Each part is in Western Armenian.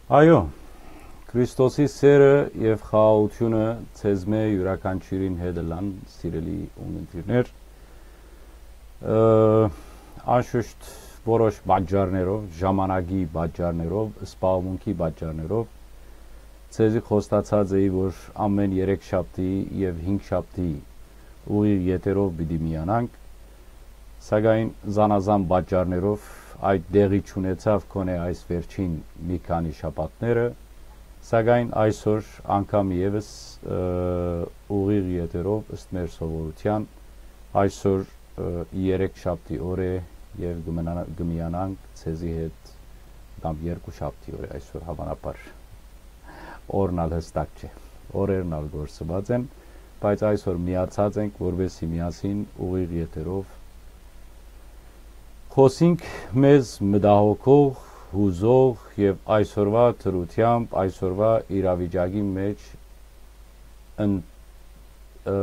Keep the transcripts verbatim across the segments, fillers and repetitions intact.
Այո, Քրիստոսի սերը եւ խաղաղութիւնը ձեզմէ յուրաքանչիւրին հետ ըլլան, սիրելի ունգընտիրներ։ Ը, անշուշտ որոշ պատճառներով, ժամանակի պատճառներով, սպառումունքի պատճառներով ձեզի խոստացած էի, որ ամէն երեք շաբթի եւ հինգ շաբթի ուղիղ եթերով պիտի միանանք, սակայն զանազան պատճառներով այդ տեղի չունեցաւ գոնէ այս վերջին մի քանի շաբաթները, սակայն այսօր անգամ եւս, ը, ուղիղ եթերով ըստ մեր սովորութեան, այսօր, ը, երեք շաբթի օր է եւ կը մնա-, կը միանանք ձեզի հետ կամ երկու շաբթի օր է այսօր, հավանաբար օրն ալ յստակ չէ, օրերն ալ կորսուած են, բայց այսօր միացած ենք, որպեսզի միասին ուղիղ եթերով խօսինք մեզ մտահոգող, յուզող եւ այսօրուայ դրութեամբ, այսօրուայ իրավիճակի մէջ ըն-, ը,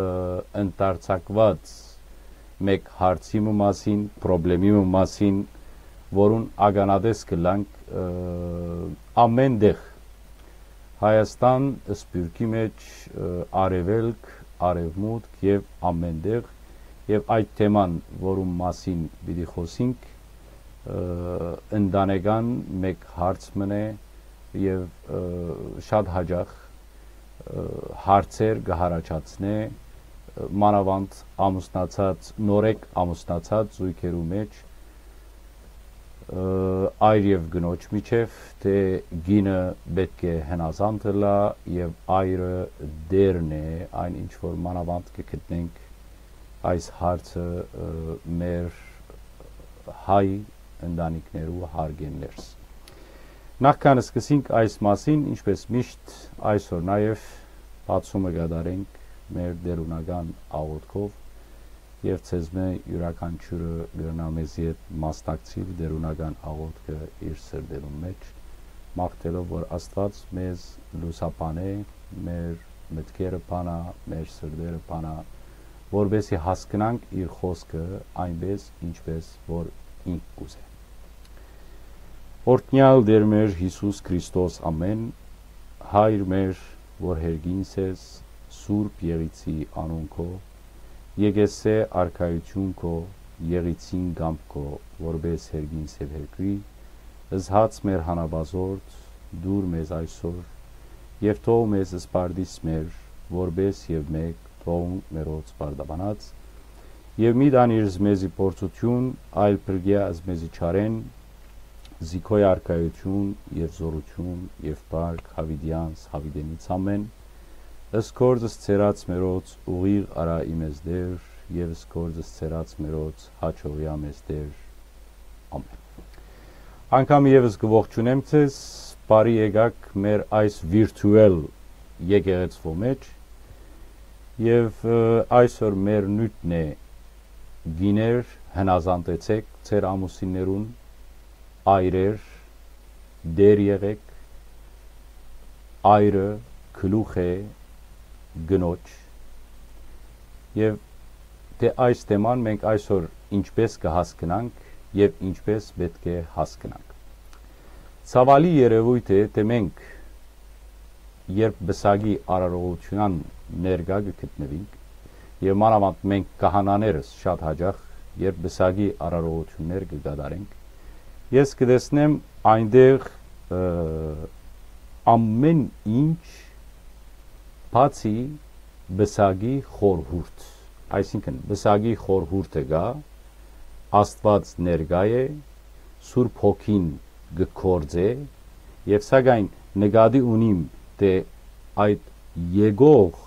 ընդարձակուած մէկ հարցի մը մասին, պրոբլեմի մը մասին, որուն ականատես կ'ըլլանք, ը, ամէն տեղ, Հայաստան, Սփիւռքի մէջ, ը, Արեւելք, Արեւմուտք եւ ամէն տեղ, եւ այդ թեման, որուն մասին պիտի խօսինք, ը, ընտանեկան մէկ հարց մըն է եւ, ը, շատ յաճախ, ը, հարցեր կը յառաջացնէ, ը, մանաւանդ ամուսնացած, նորեկ ամուսնացած զոյգերու մէջ, ը, այր եւ կնոջ միջեւ, թէ կինը պէտք է հնազանդ ըլլայ եւ այրը տէրն է, այն ինչ որ մանաւանդ կը գտնենք այս հարցը, ը, մեր հայ ընտանիքներու հարգեն ներս։ Նախքան սկսենք այս մասին, ինչպես միշտ այսօր նաեւ բացումը կատարենք մեր տէրունական աղօթքով եւ ձեզմէ յուրաքանչիւրը կրնայ մեզի հետ մասնակցիլ տէրունական աղօթքը իր սրտերուն մէջ, մաղթելով որ Աստուած մեզ լուսաբանէ, մեր մտքերը բանայ, մեր սրտերը բանայ, որպեսզի հասկնանք իր խօսքը այնպես, ինչպես որ ինք կ'ուզէ։ Օրհնեալ Տէր մեր Յիսուս Քրիստոս ամէն, Հայր մեր, որ հերգինս ես, Սուրբ Եղիցի անուն քո, եկեսէ արքայութիւն քո, Եղիցին կամք քո, որպէս հերգինս եւ հերկրի, զհաց մեր հանապազորդ, տուր մեզ այսօր, եւ թող մեզ սպարտիս մեր, որպէս եւ մէկ թողունք մերոց պարտաբանած, եւ մի տանիր զմեզի փորձութիւն, այլ փրկեա զմեզի չարէն, զի քոյ արքայութիւն եւ զօրութիւն եւ փառք յաւիտեանց յաւիտենից ամէն, ըսկորձս ցերած մերոց ուղիղ արա իմեզ Տէր, եւ ըսկորձս ցերած մերոց յաջողեա մեզ Տէր։ Ամէն։ Անգամ եւս կը ողջունեմ ձեզ, բարի եկաք մեր այս վիրտուել եկեղեցւոյ մէջ, եւ, ը, այսօր մեր նիւթն է, կիներ, հնազանդեցէք ձեր ամուսիններուն, այրեր, տէր եղէք, այրը գլուխ է կնոջ, եւ թէ այս թեման մենք այսօր ինչպես կը հասկնանք եւ ինչպես պէտք է հասկնանք։ Ցաւալի երեւոյթ է, թէ մենք, երբ պսակի արարողութեան ներկայ կը գտնուինք, եւ մանաւանդ մենք քահանաներս շատ յաճախ, երբ պսակի արարողութիւններ կը կատարենք, ես կը տեսնեմ այնտեղ, ը, ամէն ինչ բացի պսակի խորհուրդ, այսինքն պսակի խորհուրդը կայ, Աստուած ներկայ է, Սուրբ Հոգին կը գործէ, եւ սակայն նկատի ունիմ, թէ այդ եկող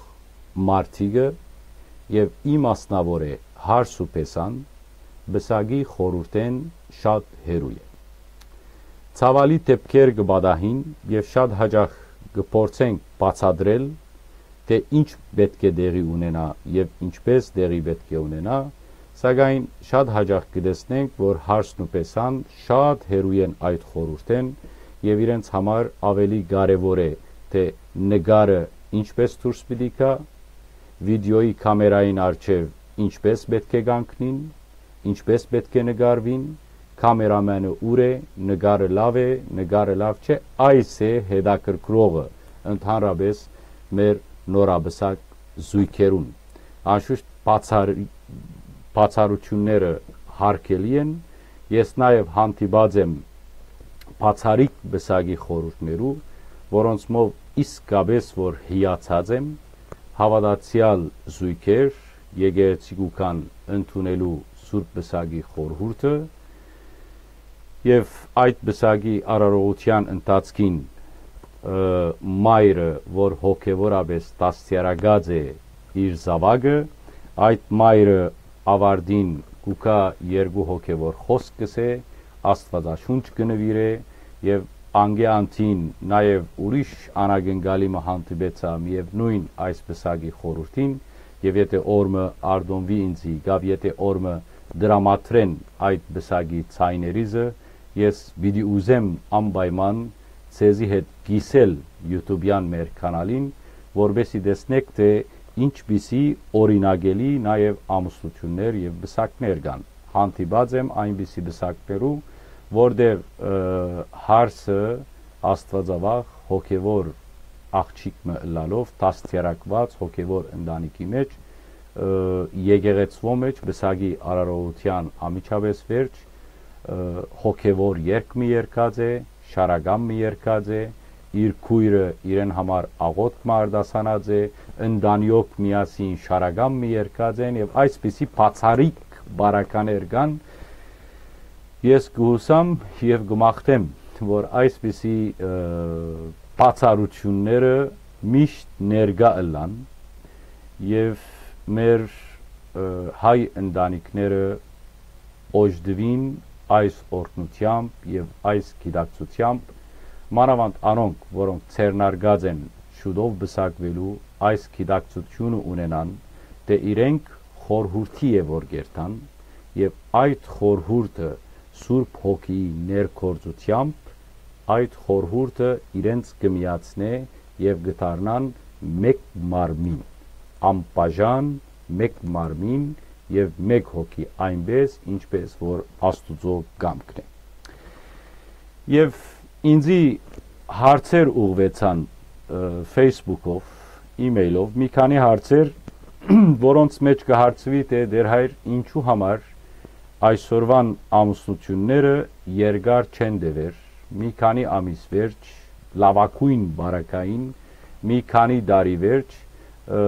մարդիկը եւ իմասնաւոր է Հարս ու Փեսան, պսակի խորհուրդէն շատ հեռու է։ Ցաւալի դէպքեր կը պատահին եւ շատ յաճախ կը փորձենք բացատրել, թէ ինչ պէտք է տեղի ունենայ եւ ինչպես տեղի պէտք է ունենայ, սակայն շատ յաճախ կը տեսնենք, որ Հարսն ու Փեսան շատ հեռու են այդ խորհուրդէն եւ իրենց համար աւելի կարեւոր է, թէ նկարը ինչպես դուրս պիտի գայ, վիդեոյի կամերային առջեւ ինչպես պէտք է կանգնին, ինչպես պէտք է նկարուին կամերամանը ուր է, նկարը լաւ է, նկարը լաւ չէ, այս է հետաքրքրողը ընդհանրապէս մեր նորապսակ զոյգերուն։ Անշուշտ բացառ-, բացառութիւնները հարգելի են, ես նաեւ հանդիպած եմ բացառիկ պսակի խորհուրդներու, որոնցմով իսկապէս որ հիացած եմ, հաւատացեալ զոյգեր եկեղեցի կու գան ընդունելու սուրբ պսակի խորհուրդը, եւ այդ պսակի արարողութեան ընթացքին, ը, մայրը, որ հոգեւորապէս դաստիարակած է իր զաւակը, այդ մայրը աւարտին կու գայ, երկու հոգեւոր խօսք կ'ըսէ, Աստուածաշունչ կը նուիրէ եւ անկէ անդին նաեւ ուրիշ անակնկալի մը հանդիպեցայ միեւնոյն այս պսակի խորհուրդին, եւ եթէ օր մը արտոնուի ինծի, կամ եթէ օր մը տրամադրեն այդ պսակի ձայներիզը, ես պիտի ուզեմ անպայման ձեզի հետ կիսել YouTube-յան մեր կանալին, որպեսզի տեսնէք, թէ ինչպիսի օրինակելի նաեւ ամուսնութիւններ եւ պսակներ կան։ Հանդիպած եմ այնպիսի պսակներու, որտեղ, ը, հարսը աստուածավախ, հոգեւոր աղջիկ մը ըլլալով, դաստիարակուած հոգեւոր ընտանիքի մէջ, ը, եկեղեցւոյ մէջ պսակի արարողութեան անմիջապէս վերջ, ը, հոգեւոր երգ մը երգած է, շարական մը երգած է, իր քոյրը իրեն համար աղօթք մը արտասանած է, ընտանիոք միասին շարական մը երգած են եւ այսպիսի բացառիկ բարականեր կան։ Ես կը յուսամ եւ կը մաղթեմ, որ այսպիսի, ը, բացառութիւնները միշտ ներկայ ըլլան եւ մեր, ը, հայ ընտանիքները օժտուին այս օրհնութեամբ եւ այս գիտակցութեամբ, մանաւանդ անոնք, որոնք ձեռնարկած են շուտով պսակուելու, այս գիտակցութիւնը ունենան, թէ իրենք խորհուրդի է որ կերթան, եւ այդ խորհուրդը Սուրբ Հոգիի ներգործութեամբ այդ խորհուրդը իրենց կը միացնէ եւ կը դառնան մէկ մարմին, անբաժան մէկ մարմին եւ մէկ հոգի, այնպէս ինչպէս որ Աստուծոյ կամքն է։ Եւ ինձի հարցեր ուղղուեցան, ը, Facebook-ով, email-ով, մի քանի հարցեր, որոնց մէջ կը հարցուի, թէ դեր հայր, ինչու համար այսօրվան ամուսնութիւնները երկար չեն տեւեր, մի քանի ամիս վերջ, լաւագոյն բարակային, մի քանի տարի վերջ, ը,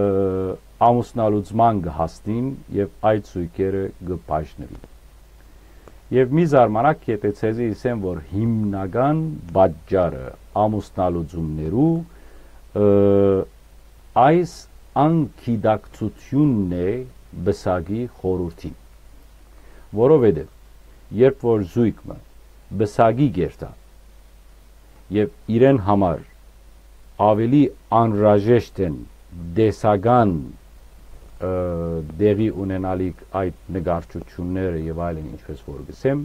ամուսնալուծման կը հասնին եւ այդ զոյգերը կը բաժնուին։ Եւ մի զարմանաք, եթէ ձեզի ըսեմ, որ հիմնական պատճառը ամուսնալուծումներու, ը, այս անգիտակցութիւնն է պսակի խորհուրդին, որովհետեւ երբ որ զոյգ մը պսակի կերթայ եւ իրեն համար աւելի անհրաժեշտ են տեսական, ը, տեղի ունենալիք այդ նկարչութիւնները եւ այլն, ինչպես որ կ'ըսեմ,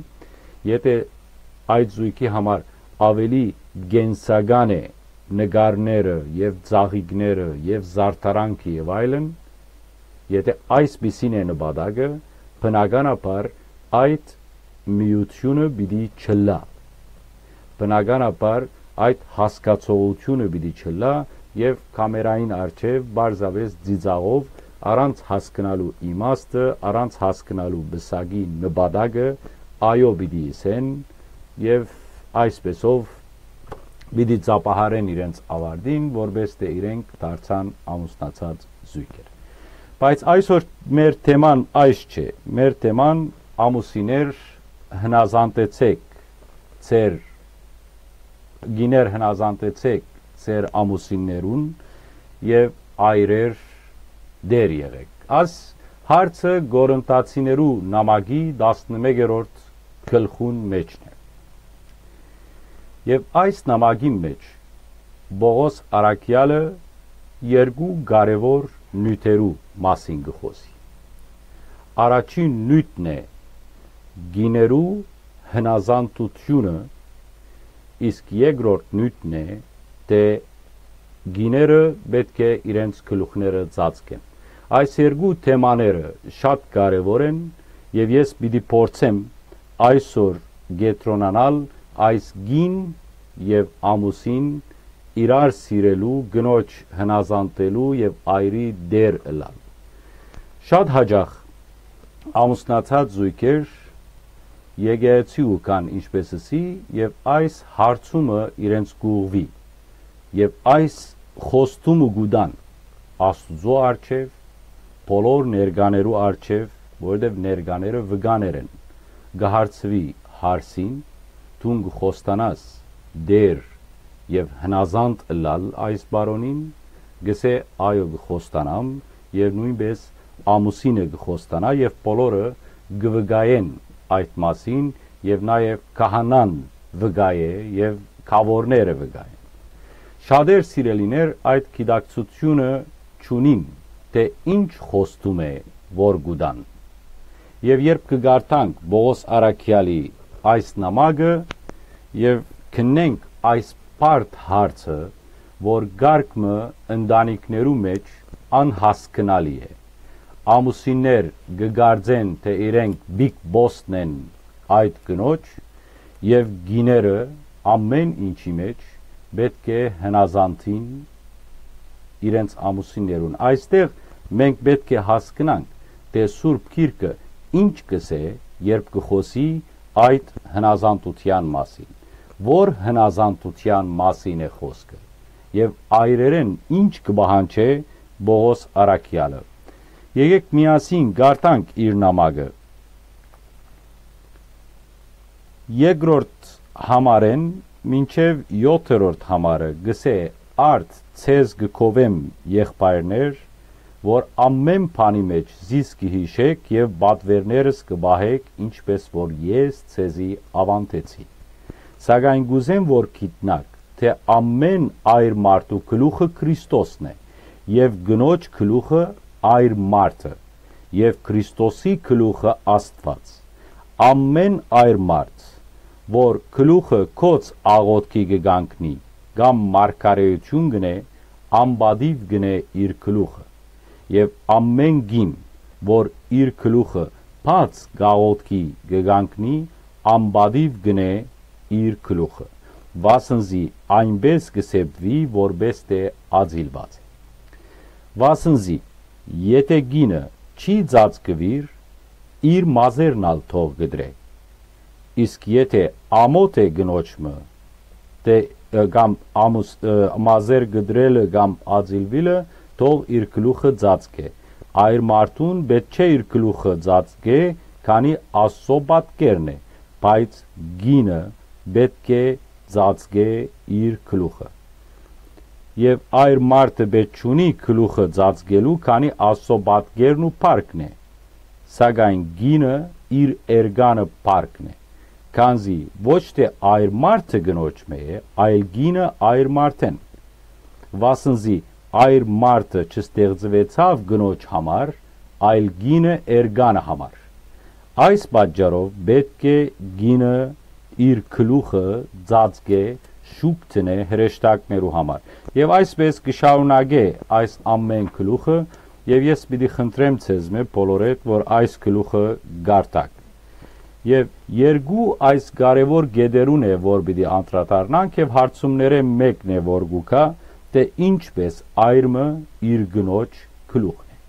եթէ այդ զոյգի համար աւելի կենսական է նկարները եւ ծաղիկները եւ զարդարանքը եւ այլն, եթէ այսպիսին է նպատակը, բնականաբար այդ միութիւնը պիտի չըլլայ։ Բնականաբար այդ հասկացողութիւնը պիտի չըլլայ եւ կամերային առջեւ պարզապէս ծիծաղով, առանց հասկնալու իմաստը, առանց հասկնալու պսակի նպատակը, այո պիտի ըսեն եւ այսպէսով պիտի ծափահարեն իրենց աւարտին, որպէս թէ իրենք դարձան ամուսնացած զոյգեր։ Բայց այսօր մեր թեման այս չէ։ Մեր թեման ամուսիններ հնազանդեցէք ձեր, կիներ հնազանդեցէք ձեր ամուսիններուն եւ այրեր դեր եղէք։ Այս հարցը Կորինթացիներու նամակի տասնմեկերորդ գլխուն մէջն է։ Եւ այս նամակին մէջ Պողոս առաքեալը երկու կարեւոր նիւթերու մասին կը խօսի։ Առաջին նիւթն է կիներու հնազանդութիւնը, իսկ երկրորդ նիւթն է, թէ կիները պէտք է իրենց գլուխները ծածկեն։ Այս երկու թեմաները շատ կարեւոր են եւ ես պիտի փորձեմ այսօր կեդրոնանալ այս կին եւ ամուսին իրար սիրելու, կնոջ հնազանդելու եւ այրի տէր ըլլալ։ Շատ յաճախ ամուսնացած զոյգեր եկեղեցի ու կան, ինչպես ըսի, եւ այս հարցումը իրենց կուղղուի, եւ այս խոստումը կու տան Աստուծոյ առջեւ, բոլոր ներկաներու առջեւ, որովհետեւ ներկաները վկաներ են, կը հարցուի հարսին, դուն կը խոստանաս Տէր եւ հնազանդ ըլլալ այս պարոնին, կ'ըսէ. «Այո, կը խոստանամ», եւ նոյնպէս ամուսինը կը խոստանայ եւ բոլորը կը վկայեն այդ մասին, եւ նաեւ քահանան վկայ է եւ գաւորները վկայ են։ Շատեր, սիրելիներ, այդ գիտակցութիւնը չունին, թէ ինչ խոստում է, որ կու տան։ Եւ երբ կը կարդանք Պողոս առաքեալի այս նամակը եւ քննենք այս բարդ հարցը, որ կարգ մը ընտանիքներու մէջ անհասկնալի է, ամուսիններ կը կարծեն, թէ իրենք բիգ բոսն են այդ կնոջ, եւ կիները ամէն ինչի մէջ պէտք է հնազանդին իրենց ամուսիններուն։ Այստեղ մենք պէտք է հասկնանք, թէ Սուրբ Գիրքը ինչ կ'ըսէ, երբ կը խօսի այդ հնազանդութեան մասին, որ հնազանդութեան մասին է խօսքը, եւ այրերէն ինչ կը պահանջէ Պողոս առաքեալը։ Եկէք միասին կարդանք իր նամակը։ Երկրորդ համարէն մինչեւ յոթերորդ համարը կ'ըսէ. «Արդ ձեզ կը գովեմ, եղբայրներ, որ ամէն բանի մէջ զիս կը յիշէք եւ պատուէրներս կը պահէք, ինչպէս որ ես ձեզի աւանդեցի։ Սակայն կ'ուզեմ որ գիտնաք, թէ ամէն այր մարդու գլուխը Քրիստոսն է, եւ կնոջ գլուխը այր մարդը, եւ Քրիստոսի գլուխը Աստուած։ Ամէն այր մարդ, որ գլուխը գոց աղօթքի կը կանգնի, կամ մարգարէութիւն կ'ընէ, անպատիւ կ'ընէ իր գլուխը։ Եւ ամէն կին, որ իր գլուխը բաց կ'աղօթքի կը կանգնի, անպատիւ կ'ընէ իր գլուխը, վասն զի այնպէս կը սեպուի, որպէս թէ ածիլուած է։ Վասն զի, եթէ կինը չի ծածկուիր, իր մազերն ալ թող կտրէ։ Իսկ եթէ ամոթ է կնոջ մը, թէ, ը, կամ ամուս-, ը, մազեր կտրելը կամ ածիլուիլը, թող իր գլուխը ծածկէ։ Այր մարդուն պէտք չէ իր գլուխը ծածկէ, քանի Աստուծոյ պատկերն է, բայց կինը պէտք է ծածկէ իր գլուխը։ Եւ այր մարդը պէտք չունի գլուխը ծածկելու, քանի Աստուծոյ պատկերն ու փառքն է, սակայն կինը իր էրկանը փառքն է, քանզի ոչ թէ այր մարդը կնոջ մը է, այլ կինը այր մարդէն։ Վասն զի այր մարդը չստեղծուեցաւ կնոջ համար, այլ կինը էրկանը համար։ Այս պատճառով պէտք է կինը իր գլուխը ծածկէ, շուք դնէ հրեշտակներու համար։ Եւ այսպէս կը շարունակէ այս ամէն գլուխը, եւ ես պիտի խնդրեմ ձեզմէ բոլորեդ, որ այս գլուխը կարդաք։ Եւ երկու այս կարեւոր կետերուն է, որ պիտի անդրադառնանք, եւ հարցումներէն մէկն է, որ կու գայ, թէ ինչպէս այր մը իր կնոջ գլուխն է։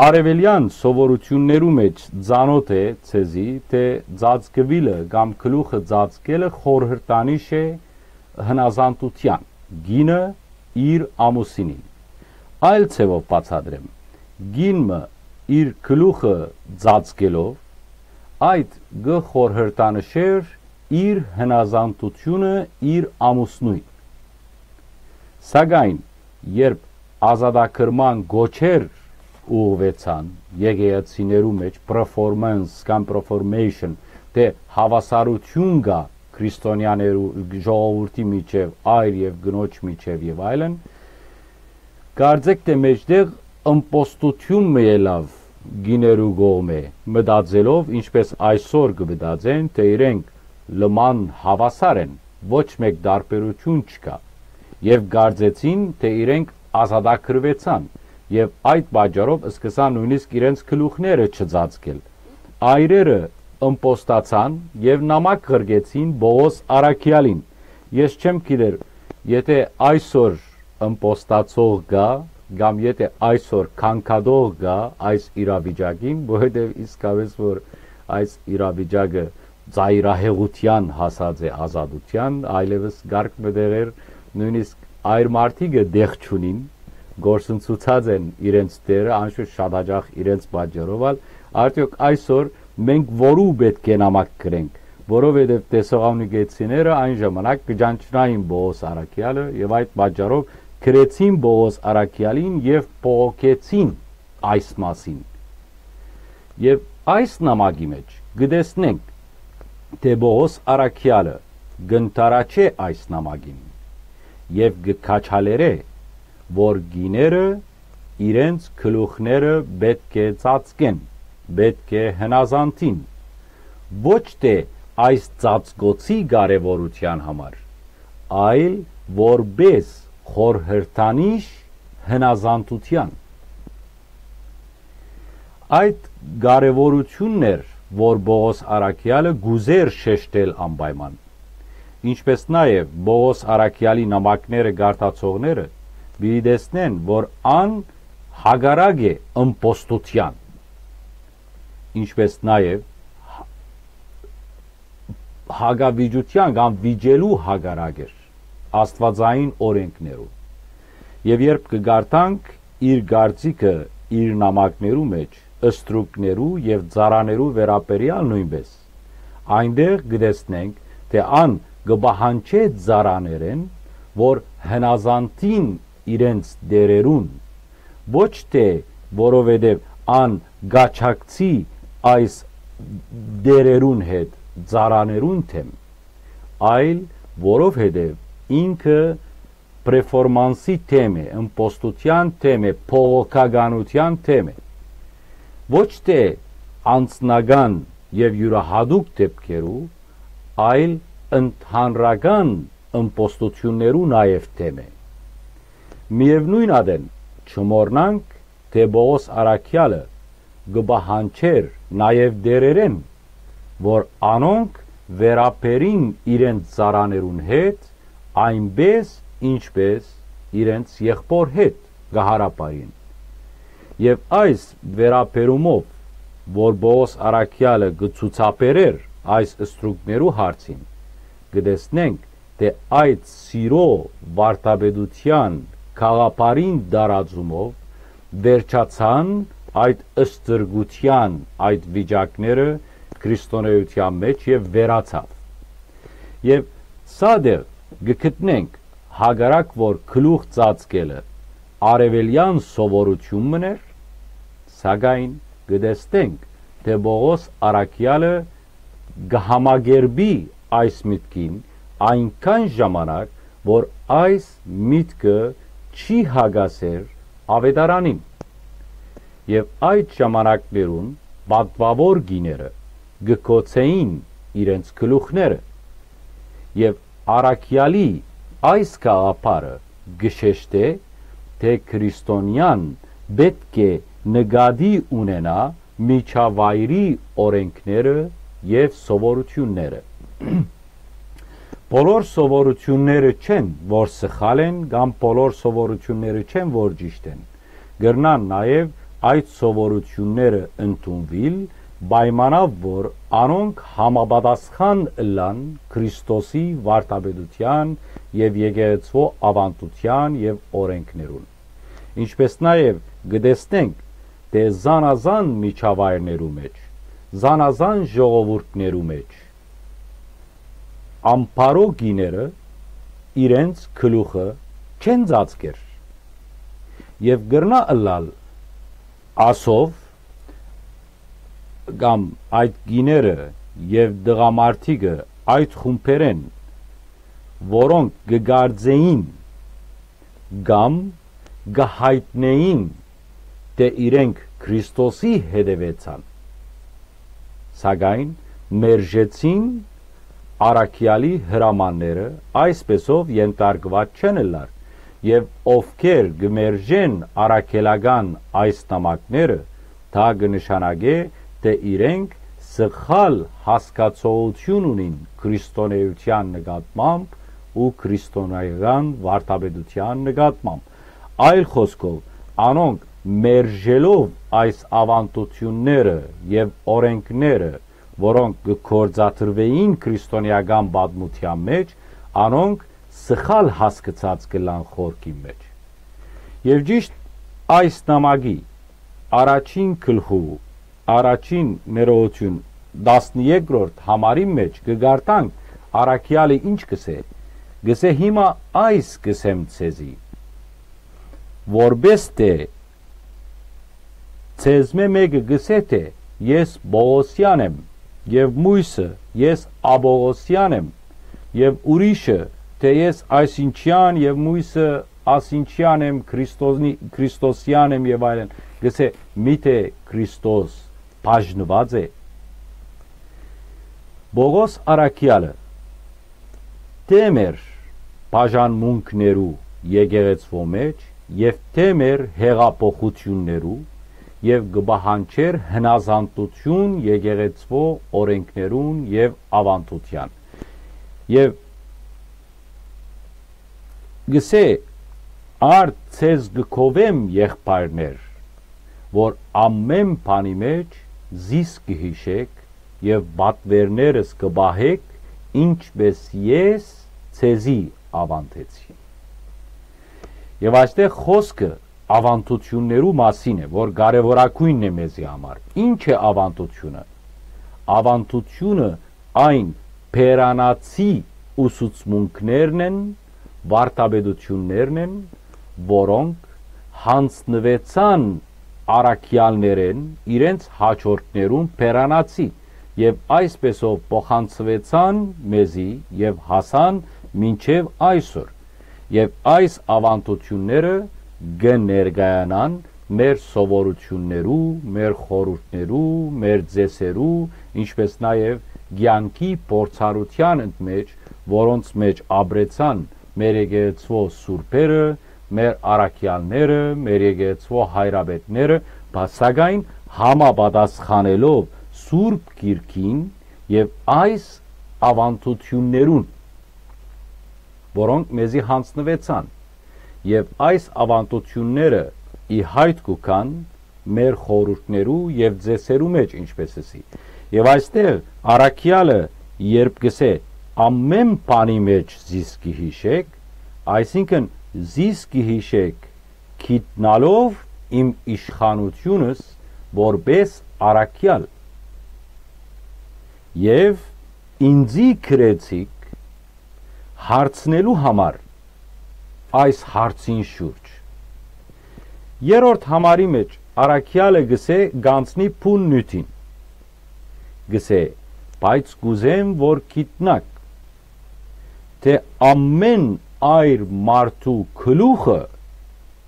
Արեւելեան սովորութիւններու մէջ ծանօթ է ձեզի, թէ ծածկուիլը կամ գլուխը ծածկելը խորհրդանիշ է հնազանդութեան, կինը իր ամուսինին։ Այլ ձեւով բացատրեմ, կին մը իր գլուխը ծածկելով, այդ կը խորհրդանշէր իր հնազանդութիւնը իր ամուսնոյն։ Սակայն երբ ազատագրման գոչեր ուղղուեցան եկեղեցիներու մէջ, performance կամ performation, թէ հաւասարութիւն կայ քրիստոնեաներու ժողովուրդի միջեւ, այր եւ կնոջ միջեւ եւ այլն, կարծէք թէ մէջտեղ ըմպոստութիւն մը ելաւ կիներու կողմէ, մտածելով, ինչպէս այսօր կը մտածեն, թէ իրենք լման հաւասար են, ոչ մէկ տարբերութիւն չկայ, եւ կարծեցին, թէ իրենք ազատագրուեցան, եւ այդ պատճառով սկսան նոյնիսկ իրենց գլուխները չծածկել։ Այրերը ըմպոստացան եւ նամակ ղրկեցին Պողոս Առաքեալին։ Ես չեմ գիտեր, եթէ այսօր ըմպոստացող կա, կամ եթէ այսօր քանքատող կա այս իրավիճակին, որովհետեւ իսկապէս որ այս իրավիճակը ծայրահեղութեան հասած է ազատութեան, այլեւս կարգ մը տեղեր, նոյնիսկ այր մարդիկը տեղ չունին, գործընծուցած են իրենց դերը, անշուշտ շատ հաճախ իրենց պատճառով ալ, արդեօք այսօր մենք որու պէտք է նամակ գրենք, որովհետեւ տեսողանուկեցիները այն ժամանակ կը ճանչնային Պողոս Առաքեալը եւ այդ պատճառով գրեցին Պողոս Առաքեալին եւ բողոքեցին այս մասին։ Եւ այս նամակի մէջ կը տեսնենք, թէ Պողոս Առաքեալը կ'ընդառաջէ այս նամակին եւ կը քաջալերէ, որ կիները իրենց գլուխները պէտք է ծածկեն, պէտք է հնազանդին, ոչ թէ այս ծածկոցի կարեւորութեան համար, այլ որպէս խորհրդանիշ հնազանդութեան։ Այդ կարեւորութիւնն էր, որ Պողոս Առաքեալը կ'ուզէր շեշտել անպայման, ինչպէս նաեւ Պողոս Առաքեալի նամակները կարդացողները պիտի տեսնեն, որ ան հակառակ է ըմպոստութեան, ինչպէս նաեւ հակավիճութեան կամ վիճելու հակառակ էր աստուածային օրէնքներուն։ Եւ երբ կը կարդանք իր կարծիքը իր նամակներու մէջ, ստրուկներու եւ ծառաներու վերաբերեալ նոյնպէս, այնտեղ կը տեսնենք, թէ ան կը պահանջէ ծառաներէն, որ հնազանդին իրենց տէրերուն, ոչ թէ որովհետեւ ան կ'աջակցի այս տէրերուն հետ ծառաներուն դէմ, այլ որովհետեւ ինքը պերֆորմանսի դէմ է, ըմպոստութեան դէմ է, բողոքականութեան դէմ է։ Ոչ թէ անձնական եւ իւրայատուկ դէպքերու, այլ ընդհանրական ըմպոստութիւններու նաեւ դէմ է։ Միեւնոյն ատեն, չմոռնանք, թէ Պողոս Առաքեալը կը պահանջէր նաեւ տէրերէն, որ անոնք վերաբերին իրենց ծառաներուն հետ, այնպէս ինչպէս իրենց եղբօր հետ կը յարաբարին։ Եւ այս վերաբերումով, որ Պողոս Առաքեալը կը ցուցաբերէր այս ստրուկներու հարցին, կը տեսնենք, թէ այդ սիրո վարդապետութեան գաղափարին տարածումով վերջացան այդ ստրկութեան այդ վիճակները քրիստոնէութեան մէջ եւ վերացաւ։ Եւ սա դեռ կը գտնենք, հակառակ որ գլուխ ծածկելը արեւելեան սովորութիւն մըն էր, սակայն կը տեսնենք, թէ Պողոս Առաքեալը կը համակերպի այս միտքին այնքան ժամանակ, որ այս միտքը չի հակասեր աւետարանին։ Եւ այդ ժամանակներուն պատուաւոր կիները կը գոցէին իրենց գլուխները։ Եւ Առաքեալի այս գաղափարը կը շեշտէ, թէ քրիստոնեան պէտք է նկատի ունենայ միջավայրի օրէնքները եւ սովորութիւնները։ Բոլոր սովորութիւնները չեն, որ սխալ են, կամ բոլոր սովորութիւնները չեն, որ ճիշդ են։ Կրնան նաեւ այդ սովորութիւնները ընդունուիլ, պայմանաւ որ անոնք համապատասխան ըլլան Քրիստոսի վարդապետութեան եւ եկեղեցւոյ աւանդութեան եւ օրէնքներուն։ Ինչպէս նաեւ կը տեսնենք, թէ զանազան միջավայրներու մէջ, զանազան ժողովուրդներու մէջ ամբարոյ կիները իրենց գլուխը չեն ծածկեր եւ կրնայ ըլլալ ասով կամ այդ կիները եւ տղամարդիկը այդ խումբերէն, որոնք կը կարծէին կամ կը յայտնէին, թէ իրենք Քրիստոսի հետեւեցան, սակայն մերժեցին առաքեալի հրամանները, այսպէսով ենթարկուած չեն ըլլար, եւ ովքեր կը մերժեն առաքելական այս նամակները, դա կը նշանակէ, թէ իրենք սխալ հասկացողութիւն ունին քրիստոնէութեան նկատմամբ ու քրիստոնէական վարդապետութեան նկատմամբ։ Այլ խօսքով, անոնք մերժելով այս աւանդութիւնները եւ օրէնքները, որոնք կը գործադրուէին քրիստոնէական պատմութեան մէջ, անոնք սխալ հասկցած կ'ըլլան խորքին մէջ։ Եւ ճիշդ այս նամակի առաջին գլխու, առաջին ներողութիւն, տասներկրորդ համարին մէջ կը կարդանք, առաքեալը ինչ կ'ըսէ։ Կ'ըսէ. «Հիմա այս կ'ըսեմ ձեզի, որպէս թէ ձեզմէ մէկը կ'ըսէ թէ, "Ես Պողոսեան եմ", եւ միւսը, "Ես Աբողոսեան եմ", եւ ուրիշը թէ, "Ես այսինչեան", եւ միւսը, "Ասինչեան եմ, Քրիստոսնի-, Քրիստոսեան եմ", եւ այլն, կ'ըսէ, միթէ Քրիստոս բաժնուած է»։ Պողոս առաքեալը թէ մեր բաժանմունքներու եկեղեցւոյ մէջ եւ թէ մեր հեղափոխութիւններու, եւ կը պահանջէր հնազանդութիւն եկեղեցւոյ օրէնքներուն եւ աւանդութեան։ Եւ կ'ըսէ. «Արդ ձեզ կը գովեմ, եղբայրներ, որ ամէն բանի մէջ զիս կը յիշէք եւ պատուէրներս կը պահէք, ինչպէս ես ձեզի աւանդեցի»։ Եւ այստեղ խօսքը աւանդութիւններու մասին է, որ կարեւորագոյնն է մեզի համար։ Ի՞նչ է աւանդութիւնը։ Աւանդութիւնը այն բերանացի ուսուցմունքներն են, վարդապետութիւններն են, որոնք յանձնուեցան առաքեալներէն իրենց հաջորդներուն բերանացի, եւ այսպէսով փոխանցուեցան մեզի եւ հասան մինչեւ այսօր։ Եւ այս աւանդութիւնները կը ներկայանան մեր սովորութիւններու, մեր խորհուրդներու, մեր ծեսերու, ինչպէս նաեւ կեանքի փորձառութեան մէջ, որոնց մէջ ապրեցան մեր եկեղեցւոյ սուրբերը, մեր առաքեալները, մեր եկեղեցւոյ հայրապետները, բա սակայն համապատասխանելով Սուրբ Գիրքին եւ այս աւանդութիւններուն, որոնք մեզի յանձնուեցան, եւ այս աւանդութիւնները ի յայտ կու գան մեր խորհուրդներու եւ ծեսերու մէջ, ինչպէս ըսի։ Եւ այստեղ առաքեալը երբ կ'ըսէ. «Ամէն բանի մէջ զիս կը յիշէք», այսինքն՝ զիս կը յիշէք գիտնալով իմ իշխանութիւնս որպէս առաքեալ, եւ ինծի գրեցիք հարցնելու համար այս հարցին շուրջ։ Երրորդ համարի մէջ առաքեալը կ'ըսէ, կ'անցնի բուն նիւթին։ Կ'ըսէ. «Բայց կ'ուզեմ որ գիտնաք, թէ ամէն այր մարդու գլուխը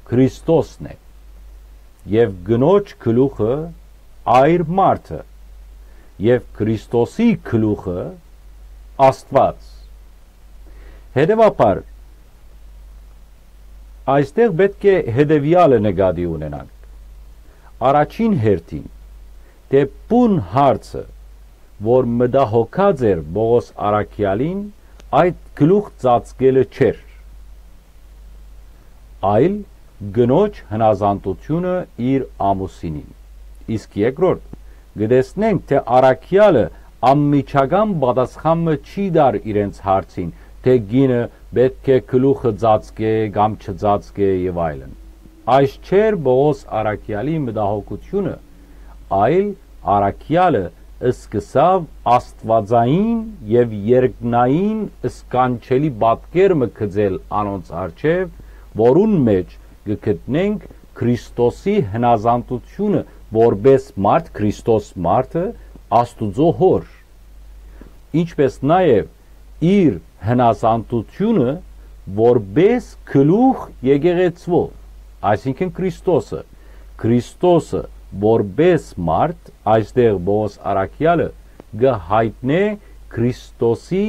Քրիստոսն է, եւ կնոջ գլուխը այր մարդը, եւ Քրիստոսի գլուխը Աստուած»։ Հետեւաբար, այստեղ պէտք է հետեւեալը նկատի ունենանք։ Առաջին հերթին, թէ բուն հարցը, որ մտահոգած էր Պողոս առաքեալին, այդ գլուխ ծածկելը չէր, այլ կնոջ հնազանդութիւնը իր ամուսինին։ Իսկ երկրորդ, կը տեսնենք, թէ առաքեալը անմիջական պատասխան մը չի տար իրենց հարցին, թէ կինը պէտք է գլուխը ծածկէ կամ չծածկէ եւ այլն։ Այս չէր Պողոս առաքեալի մտահոգութիւնը, այլ առաքեալը սկսաւ աստուածային եւ երկնային սքանչելի պատկեր մը գծել անոնց առջեւ, որուն մէջ կը գտնենք Քրիստոսի հնազանդութիւնը որպէս մարդ, Քրիստոս մարդը, Աստուծոյ Հօր, ինչպէս նաեւ իր հնազանդութիւնը որպէս գլուխ եկեղեցւոյ, այսինքն՝ Քրիստոսը։ Քրիստոսը որպէս մարդ, այստեղ Պողոս առաքեալը կը յայտնէ Քրիստոսի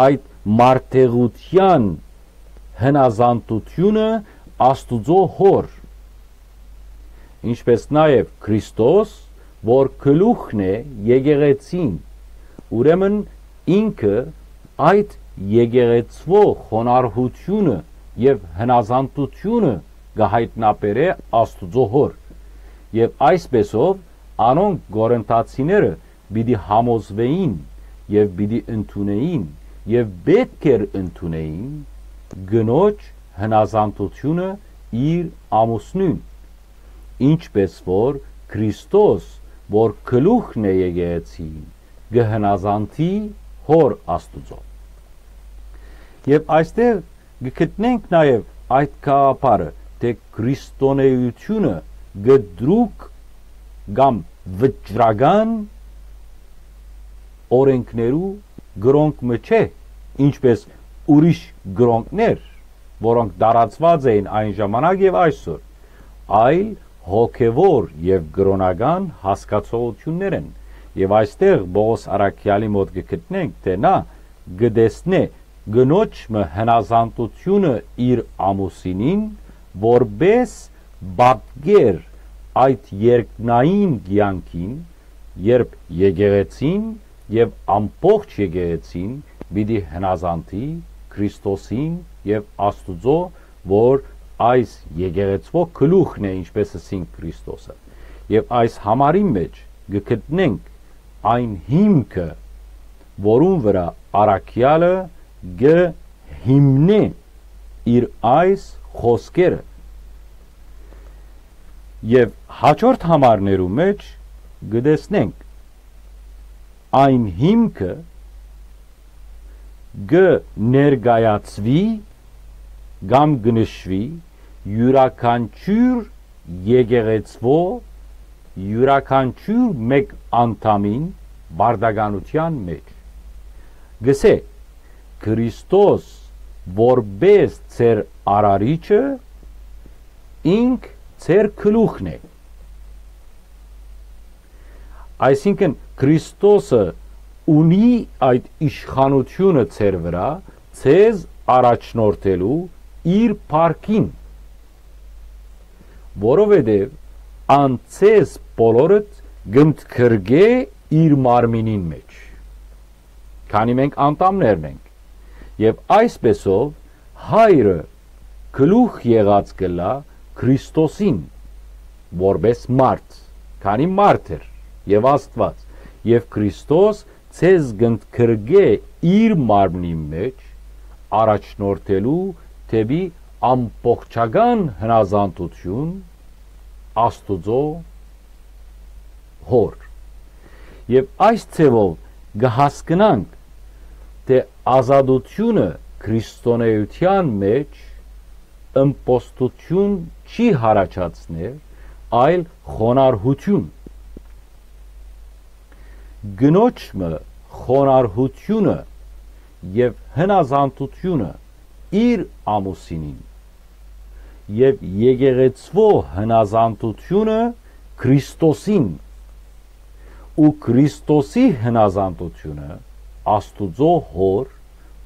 այդ մարդեղութեան հնազանդութիւնը Աստուծոյ Հօր, ինչպէս նաեւ Քրիստոս որ գլուխն է եկեղեցին, ուրեմն ինքը այդ եկեղեցուոյ խոնարհութիւնը եւ հնազանդութիւնը կը յայտնաբերէ Աստուծոյ Հօր։ Եւ այսպէսով անոնք, կորինթացիները, պիտի համոզուէին եւ պիտի ընդունէին, եւ պէտք էր ընդունէին կնոջ հնազանդութիւնը իր ամուսնոյն, ինչպէս որ Քրիստոս, որ գլուխն է եկեղեցին, կը հնազանդի Հօր Աստուծոյ։ Եւ այստեղ կը գտնենք նաեւ այդ գաղափարը, թէ քրիստոնէութիւնը կտրուկ կամ վճռական օրէնքներու կրօնք մը չէ, ինչպէս ուրիշ կրօնքներ, որոնք տարածուած էին այն ժամանակ եւ այսօր, այլ հոգեւոր եւ կրօնական հասկացողութիւններ են։ Եւ այստեղ Պողոս առաքեալի մօտ կը գտնենք, թէ նա կը տեսնէ կնոջ մը հնազանդութիւնը իր ամուսինին, որպէս պատկեր այդ երկնային կեանքին, երբ եկեղեցին եւ ամբողջ եկեղեցին պիտի հնազանդի Քրիստոսին եւ Աստուծոյ, որ այս եկեղեցուոյ գլուխն է, ինչպէս ըսինք, Քրիստոսը։ Եւ այս համարին մէջ կը գտնենք այն հիմքը, որուն վրայ առաքեալը կը հիմնէ իր այս խօսքերը։ Եւ հաջորդ համարներու մէջ կը տեսնենք այն հիմքը, կը ներկայացուի կամ կը նշուի յուրաքանչիւր եկեղեցուոյ, յուրաքանչիւր մէկ անդամին պարտականութեան մէջ։ Կ'ըսէ. «Քրիստոս, որպէս ձեր արարիչը, ինք ձեր գլուխն է»։ Այսինքն, Քրիստոսը ունի այդ իշխանութիւնը ձեր վրայ, ձեզ առաջնորդելու իր փառքին, որովհետեւ ան ձեզ բոլորդ կ'ընդգրկէ իր մարմինին մէջ, քանի մենք անդամներն ենք։ Եւ այսպէսով Հայրը գլուխ եղած կ'ըլլայ Քրիստոսին, որպէս մարդ, քանի մարդ էր եւ Աստուած, եւ Քրիստոս ձեզ կ'ընդգրկէ իր մարմնին մէջ, առաջնորդելու դէպի ամբողջական հնազանդութիւն Աստուծոյ Հօր։ Եւ այս ձեւով կը հասկնանք, թէ ազատութիւնը քրիստոնէութեան մէջ ըմբոստութիւն չի յառաջացներ, այլ խոնարհութիւն։ Կնոջ մը խոնարհութիւնը եւ հնազանդութիւնը իր ամուսինին եւ եկեղեցուոյ հնազանդութիւնը Քրիստոսին ու Քրիստոսի հնազանդութիւնը Աստուծոյ Հօր,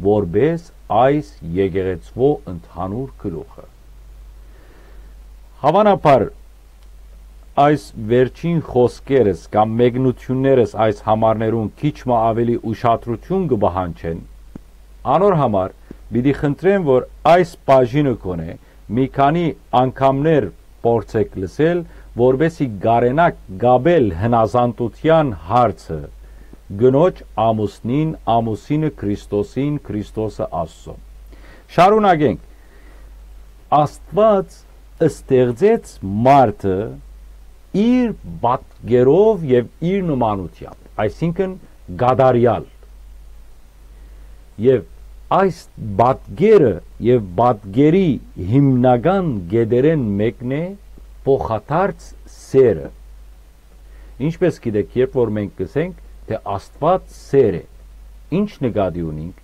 որպէս այս եկեղեցուոյ ընդհանուր գլուխը։ Հաւանաբար այս վերջին խօսքերս կամ մեկնութիւններս այս համարներուն քիչ մը աւելի ուշադրութիւն կը պահանջեն, անոր համար պիտի խնդրեմ, որ այս բաժինը կոնէ մի քանի անգամներ փորձեք լսել, որպէսզի կարենաք կապել հնազանդութեան հարցը կնոջ ամուսնին, ամուսինը Քրիստոսին, Քրիստոսը Աստծոյ։ Շարունակենք։ Աստուած ստեղծեց մարդը իր պատկերով եւ իր նմանությամբ, այսինքն՝ կատարեալ։ Եւ այս պատկերը եւ պատկերի հիմնական կետերէն մէկն է փոխադարձ սերը։ Ինչպէս գիտեք, երբ որ մենք կ'ըսենք, թէ Աստուած սեր է, ի՞նչ նկատի ունինք։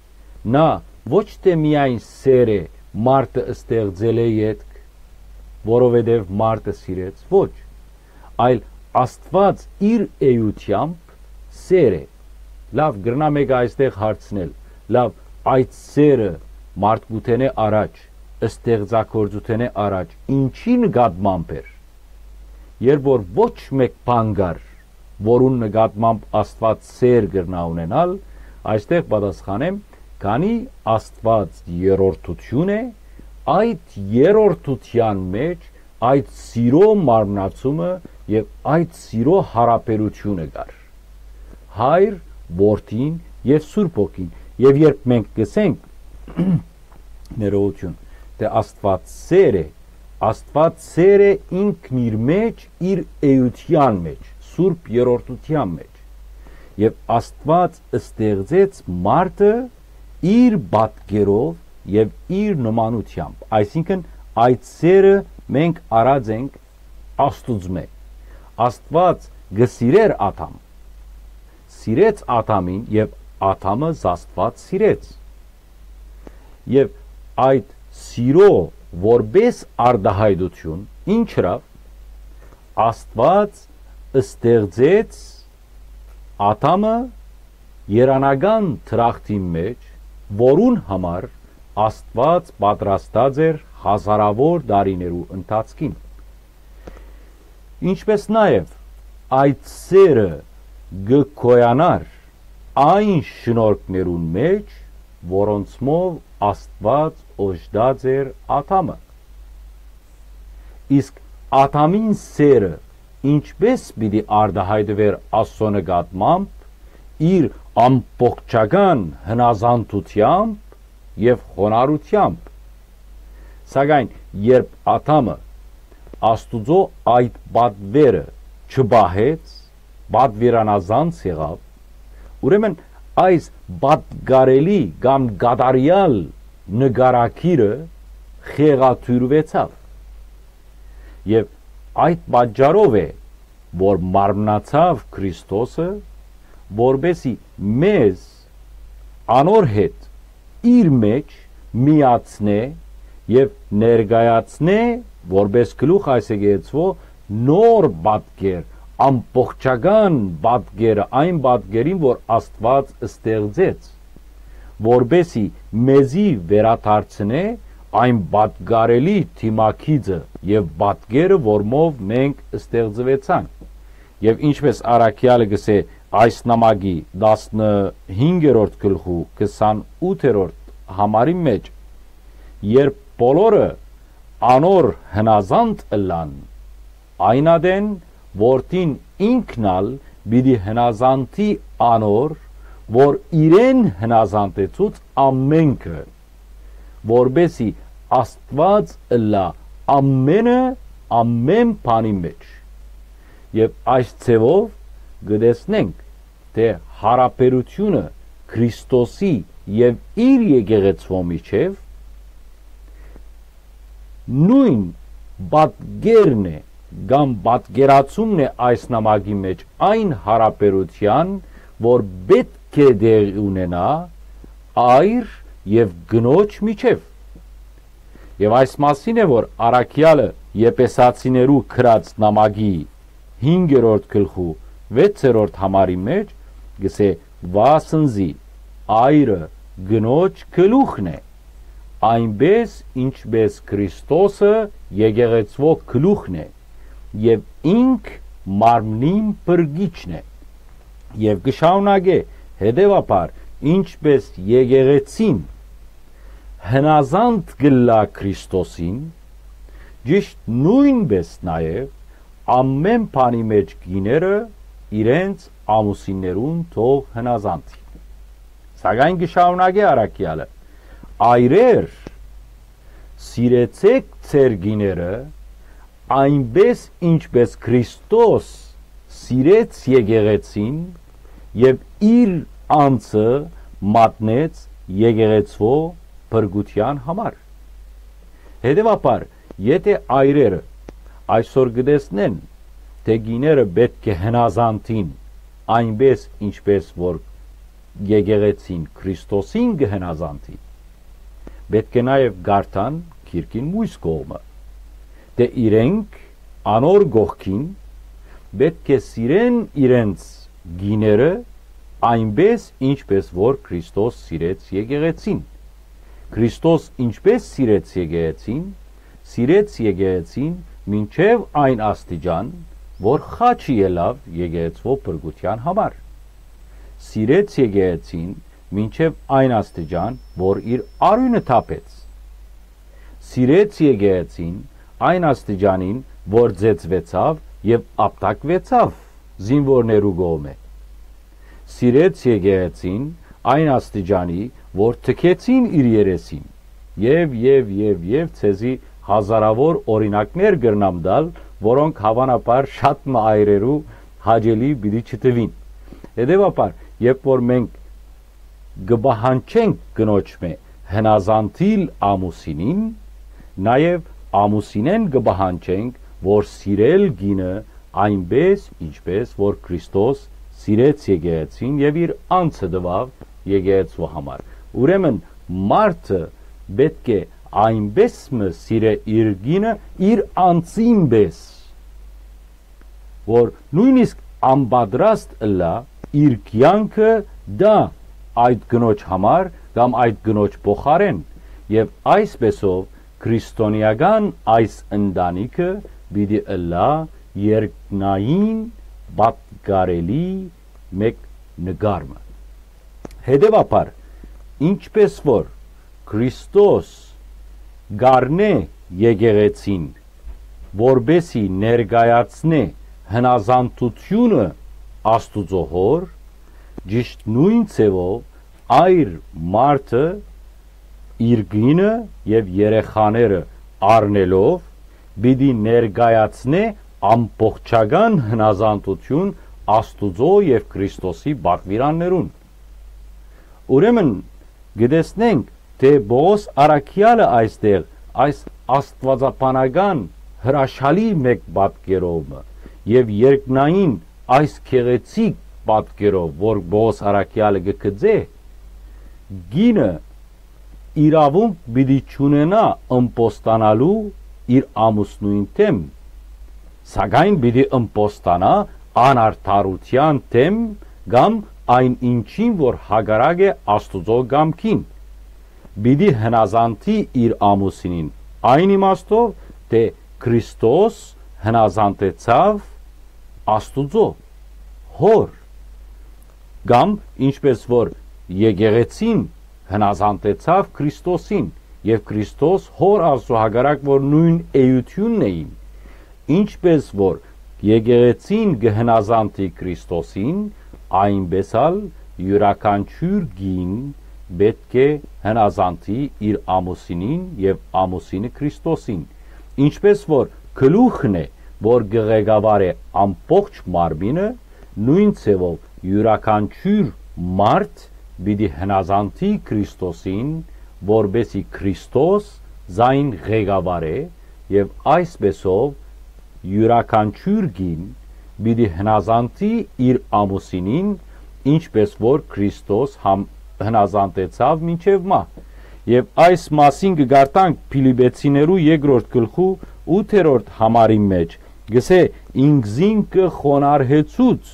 Նա ոչ թէ միայն սեր է մարդը ստեղծելէ ետք, որովհետեւ մարդը սիրեց, ոչ, այլ Աստուած իր էությամբ սեր է։ Լաւ, կրնայ մէկը այստեղ հարցնել. «Լաւ, այդ սերը մարդկութենէ առաջ, ստեղծագործութենէ առաջ ի՞նչի նկատմամբ էր»։ Երբ որ ոչ մէկ բան կար, որուն նկատմամբ Աստուած սէր կրնայ ունենալ, այստեղ պատասխանեմ, քանի Աստուած երրորդութիւն է, այդ երրորդութեան մէջ այդ սիրոյ մարմնացումը եւ այդ սիրոյ յարաբերութիւնը կար։ Հայր, Որդին եւ Սուրբ Հոգին։ Եւ երբ մենք կ'ըսենք, ներողութիւն, թէ Աստուած սէր է, Աստուած սէր է ինքն իր մէջ, իր էութեան մէջ, Սուրբ Երրորդութեան մէջ։ Եւ Աստուած ստեղծեց մարդը իր պատկերով եւ իր նմանութեամբ, այսինքն՝ այդ սէրը մենք առած ենք Աստուծմէ։ Աստուած կը սիրէր Ադամ, սիրեց Ադամին եւ Ադամը Աստուած սիրեց։ Եւ այդ սիրո որպէս արտայայտութիւն ինչ ըրաւ, Աստուած ստեղծեց Ադամը երանական դրախտին մէջ, որուն համար Աստուած պատրաստած էր հազարաւոր տարիներու ընթացքին։ Ինչպէս նաեւ այդ սէրը կը գոյանար այն շնորհքներուն մէջ, որոնցմով Աստուած օժտած էր Ադամը։ Իսկ Ադամին սէրը ինչպէս պիտի արտայայտուէր Աստուծոյ նկատմամբ իր ամբողջական հնազանդութեամբ եւ խոնարհութեամբ։ Սակայն երբ Ադամը Աստուծոյ այդ պատուերը չպահեց, պատուիրանազանց եղաւ, ուրեմն այս պատկառելի կամ կատարեալ նկարագիրը խեղաթիւրուեցաւ։ Եւ այդ պատճառով է, որ մարմնացաւ Քրիստոսը, որպէսզի մեզ անոր հետ իր մէջ միացնէ եւ ներկայացնէ որպէս գլուխ այս եկեղեցւոյ նոր պատկեր, ամբողջական պատկերը, այն պատկերին, որ Աստուած ստեղծեց, որպէսզի մեզի վերադարձնէ այն պատկառելի դիմագիծը եւ պատկերը, որմով մենք ստեղծուեցանք։ Եւ ինչպէս առաքեալը կ'ըսէ այս նամակի տասնհինգերորդ գլխու քսանութերորդ համարին մէջ, երբ բոլորը անոր հնազանդ ըլլան, այն ատեն Որդին ինքն ալ պիտի հնազանդի անոր, որ իրեն հնազանդեցուց ամէնքը, որպէսզի Աստուած ըլլայ ամէնը, ամէն բանի մէջ։ Եւ այս ձեւով կը տեսնենք, թէ յարաբերութիւնը Քրիստոսի եւ իր եկեղեցւոյ միջեւ նոյն պատկերն է կամ պատկերացումն է այս նամակի մէջ այն յարաբերութեան, որ պէտք է տեղի ունենայ այր եւ կնոջ միջեւ։ Եւ այս մասին է, որ առաքեալը Եփեսացիներու գրած նամակի հինգերորդ գլխու վեցերորդ համարի մէջ կ'ըսէ. «Վասնզի այրը կնոջ գլուխն է, այնպէս ինչպէս Քրիստոսը եկեղեցւոյ գլուխն է, եւ ինք մարմնին փրկիչն է»։ Եւ կը շարունակէ. «Հետեւաբար, ինչպէս եկեղեցին հնազանդ կ'ըլլայ Քրիստոսին, ճիշդ նոյնպէս նաեւ ամէն բանի մէջ կիները իրենց ամուսիններուն թող հնազանդին»։ Սակայն կը շարունակէ առաքեալը. «Այրեր, սիրեցէք ձեր կիները, այնպէս ինչպէս Քրիստոս սիրեց եկեղեցին եւ իր անձը մատնեց եկեղեցւոյ փրկութեան համար»։ Հետեւաբար, եթէ այրերը այսօր կը տեսնեն, թէ կիները պէտք է հնազանդին, այնպէս ինչպէս որ եկեղեցին Քրիստոսին կը հնազանդի, պէտք է նաեւ կարդան գիրքին մյուս կողմը, թէ իրենք անոր կողքին պէտք է սիրեն իրենց կիները, այնպէս ինչպէս որ Քրիստոս սիրեց եկեղեցին։ Քրիստոս ինչպէս սիրեց եկեղեցին, սիրեց եկեղեցին մինչեւ այն աստիճան, որ խաչը ելաւ եկեղեցւոյ փրկութեան համար։ Սիրեց եկեղեցին մինչեւ այն աստիճան, որ իր արիւնը թափեց։ Սիրեց եկեղեցին այն աստիճանին, որ ծեծուեցաւ եւ ապտակուեցաւ զինուորներու կողմէ։ Սիրեց եկեղեցին այն աստիճանի, որ թքեցին իր երեսին։ Եւ, եւ, եւ, եւ ձեզի հազարաւոր օրինակներ կրնամ տալ, որոնք հաւանաբար շատ մը այրերու հաճելի պիտի չթուին։ Հետեւաբար, երբ որ մենք կը պահանջենք կնոջմէ հնազանդիլ ամուսինին, նաեւ ամուսինէն կը պահանջենք, որ սիրել կինը այնպէս, ինչպէս որ Քրիստոս սիրեց եկեղեցին եւ իր անձը տուաւ եկեղեցու համար։ Ուրեմն մարդը պէտք է այնպէս մը սիրէ իր կինը իր անձին պէս, որ նոյնիսկ անպատրաստ ըլլայ իր կեանքը տայ այդ կնոջ համար կամ այդ կնոջ փոխարէն, եւ այսպէսով քրիստոնեական այս ընտանիքը պիտի ըլլայ երկնային պատկառելի մէկ նկար մը։ Հետեւաբար, ինչպէս որ Քրիստոս կ'առնէ եկեղեցին, որպէսի ներկայացնէ հնազանդութիւնը Աստուծոյ Հօր, ճիշդ նոյն ձեւով այր մարդը իր կինը եւ երեխաները առնելով պիտի ներկայացնէ ամբողջական հնազանդութիւն Աստուծոյ եւ Քրիստոսի պատուիրաններուն։ Ուրեմն կը տեսնենք, թէ Պողոս առաքեալը այստեղ այս աստուածաբանական հրաշալի մէկ պատկերով մը եւ երկնային այս գեղեցիկ պատկերով, որ Պողոս առաքեալը կը գծէ, կինը իրաւունք պիտի չունենայ ըմբոստանալու իր ամուսնոյն դէմ, սակայն պիտի ըմբոստանայ անարդարութեան դէմ կամ այն ինչին, որ հակառակ է Աստուծոյ կամքին։ Պիտի հնազանդի իր ամուսինին այն իմաստով, թէ Քրիստոս հնազանդեցաւ Աստուծոյ Հօր, կամ ինչպէս որ եկեղեցին հնազանդեցաւ Քրիստոսին, եւ Քրիստոս Հօր Աստուծոյ հակառակ որ նոյն էութիւնն էին, ինչպէս որ եկեղեցին կը հնազանդի Քրիստոսին, այնպէս ալ իւրաքանչիւր կին պէտք է հնազանդի իր ամուսինին եւ ամուսինը Քրիստոսին, ինչպէս որ գլուխն է, որ կը ղեկավարէ ամբողջ մարմինը, նոյն ձեւով իւրաքանչիւր մարդ պիտի հնազանդի Քրիստոսին, որպէսի Քրիստոս զայն ղեկավարէ, եւ այսպէսով իւրաքանչիւր կին պիտի հնազանդի իր ամուսինին, ինչպէս որ Քրիստոս համ-, հնազանդեցաւ մինչեւ մահ։ Եւ այս մասին կը կարդանք Փիլիպեցիներու երկրորդ գլխու ութերորդ համարին մէջ, կսէ. «Ինքզինքը խոնարհեցուց,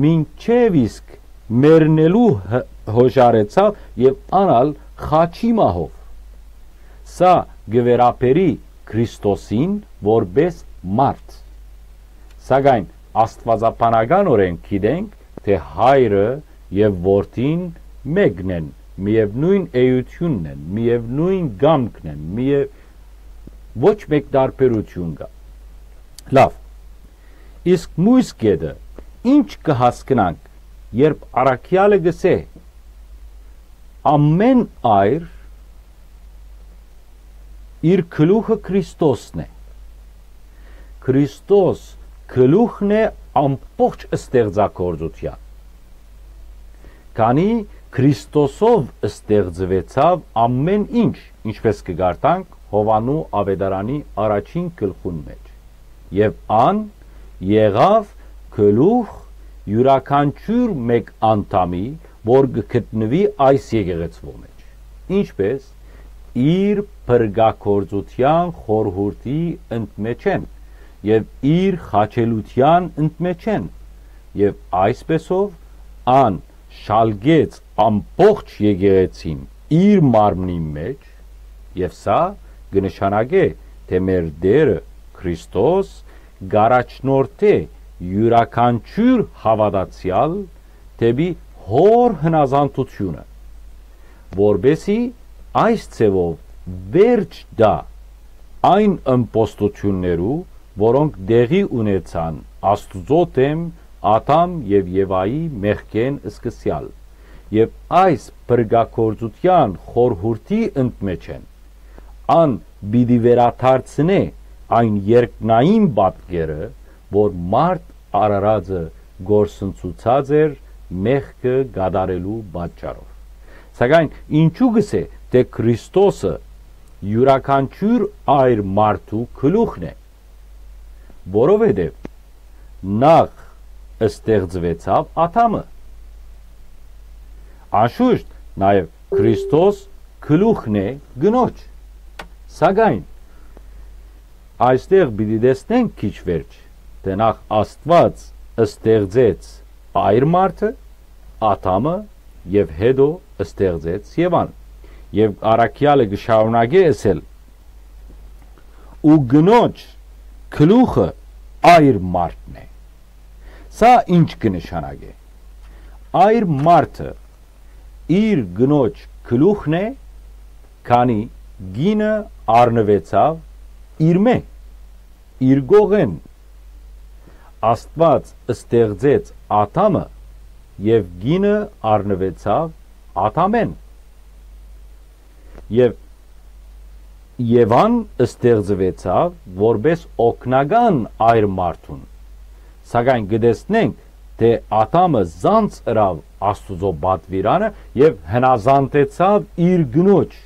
մինչեւ իսկ մեռնելու յ-, յօժարեցաւ եւ ան ալ խաչի մահով»։ Սա կը վերաբերի Քրիստոսին որպէս մարդ։ Սակայն աստուածաբանականօրէն գիտենք, թէ Հայրը եւ Որդին մէկն են, միեւնոյն էութիւնն են, միեւնոյն կամքն են, միեւ ոչ մէկ տարբերութիւն կայ։ Լաւ, իսկ միւս կէտը, ի՞նչ կը հասկնանք, երբ առաքեալը կ'ըսէ. «Ամէն այր իր գլուխը Քրիստոսն է»։ Քրիստոս գլուխն է ամբողջ ստեղծագործութեան։ Քանի Քրիստոսով ստեղծուեցաւ ամէն ինչ, ինչպէս կը կարդանք Յովհաննու Աւետարանի առաջին գլխուն մէջ։ Եւ ան եղաւ գլուխ իւրաքանչիւր մէկ անդամի, որ կը գտնուի այս եկեղեցւոյ մէջ, ինչպէս իր փրկագործութեան խորհուրդի ընդմէջէն եւ իր խաչելութեան ընդմէջէն, եւ այսպէսով ան շալկեց ամբողջ եկեղեցին իր մարմնին մէջ, եւ սա կը նշանակէ, թէ մեր Տէրը Քրիստոս կ'առաջնորդէ իւրաքանչիւր հաւատացեալ դէպի Հօր հնազանդութիւնը, որպէս զի այս ձեւով վերջ տայ այն ըմբոստութիւններու, որոնք տեղի ունեցան Աստուծոյ դէմ Ադամ եւ Եվայի մեղքէն սկսեալ, եւ այս փրկագործութեան խորհուրդի ընդմէջէն ան պիտի վերադարձնէ այն երկնային պատկերը, որ մարդ արարածը կորսնցուցած էր մեղքը կատարելու պատճառով։ Սակայն ինչու կ'ըսէ թէ Քրիստոսը իւրաքանչիւր այր մարդու գլուխն է, որովհետեւ նախ ստեղծուեցաւ Ադամը։ Անշուշտ, նաեւ Քրիստոս գլուխն է կնոջ։ Սակայն այստեղ պիտի տեսնենք քիչ վերջ, թէ նախ Աստուած ստեղծեց այր մարդը, Ադամը, եւ հետո ստեղծեց Եվան։ Եւ առաքեալը կը շարունակէ ըսել. «Ու կնոջ գլուխը այր մարդն է»։ Սա ի՞նչ կը նշանակէ։ Այր մարդը իր կնոջ գլուխն է, քանի կինը առնուեցաւ իրմէ, իր կողէն։ Աստուած ստեղծեց Ադամը, եւ կինը առնուեցաւ Ադամէն։ Եւ Եվան ստեղծուեցաւ որպէս օգնական այր մարդուն։ Սակայն կը տեսնենք թէ Ադամը զանց ըրաւ Աստուծոյ պատուիրանը եւ հնազանդեցաւ իր կնոջ։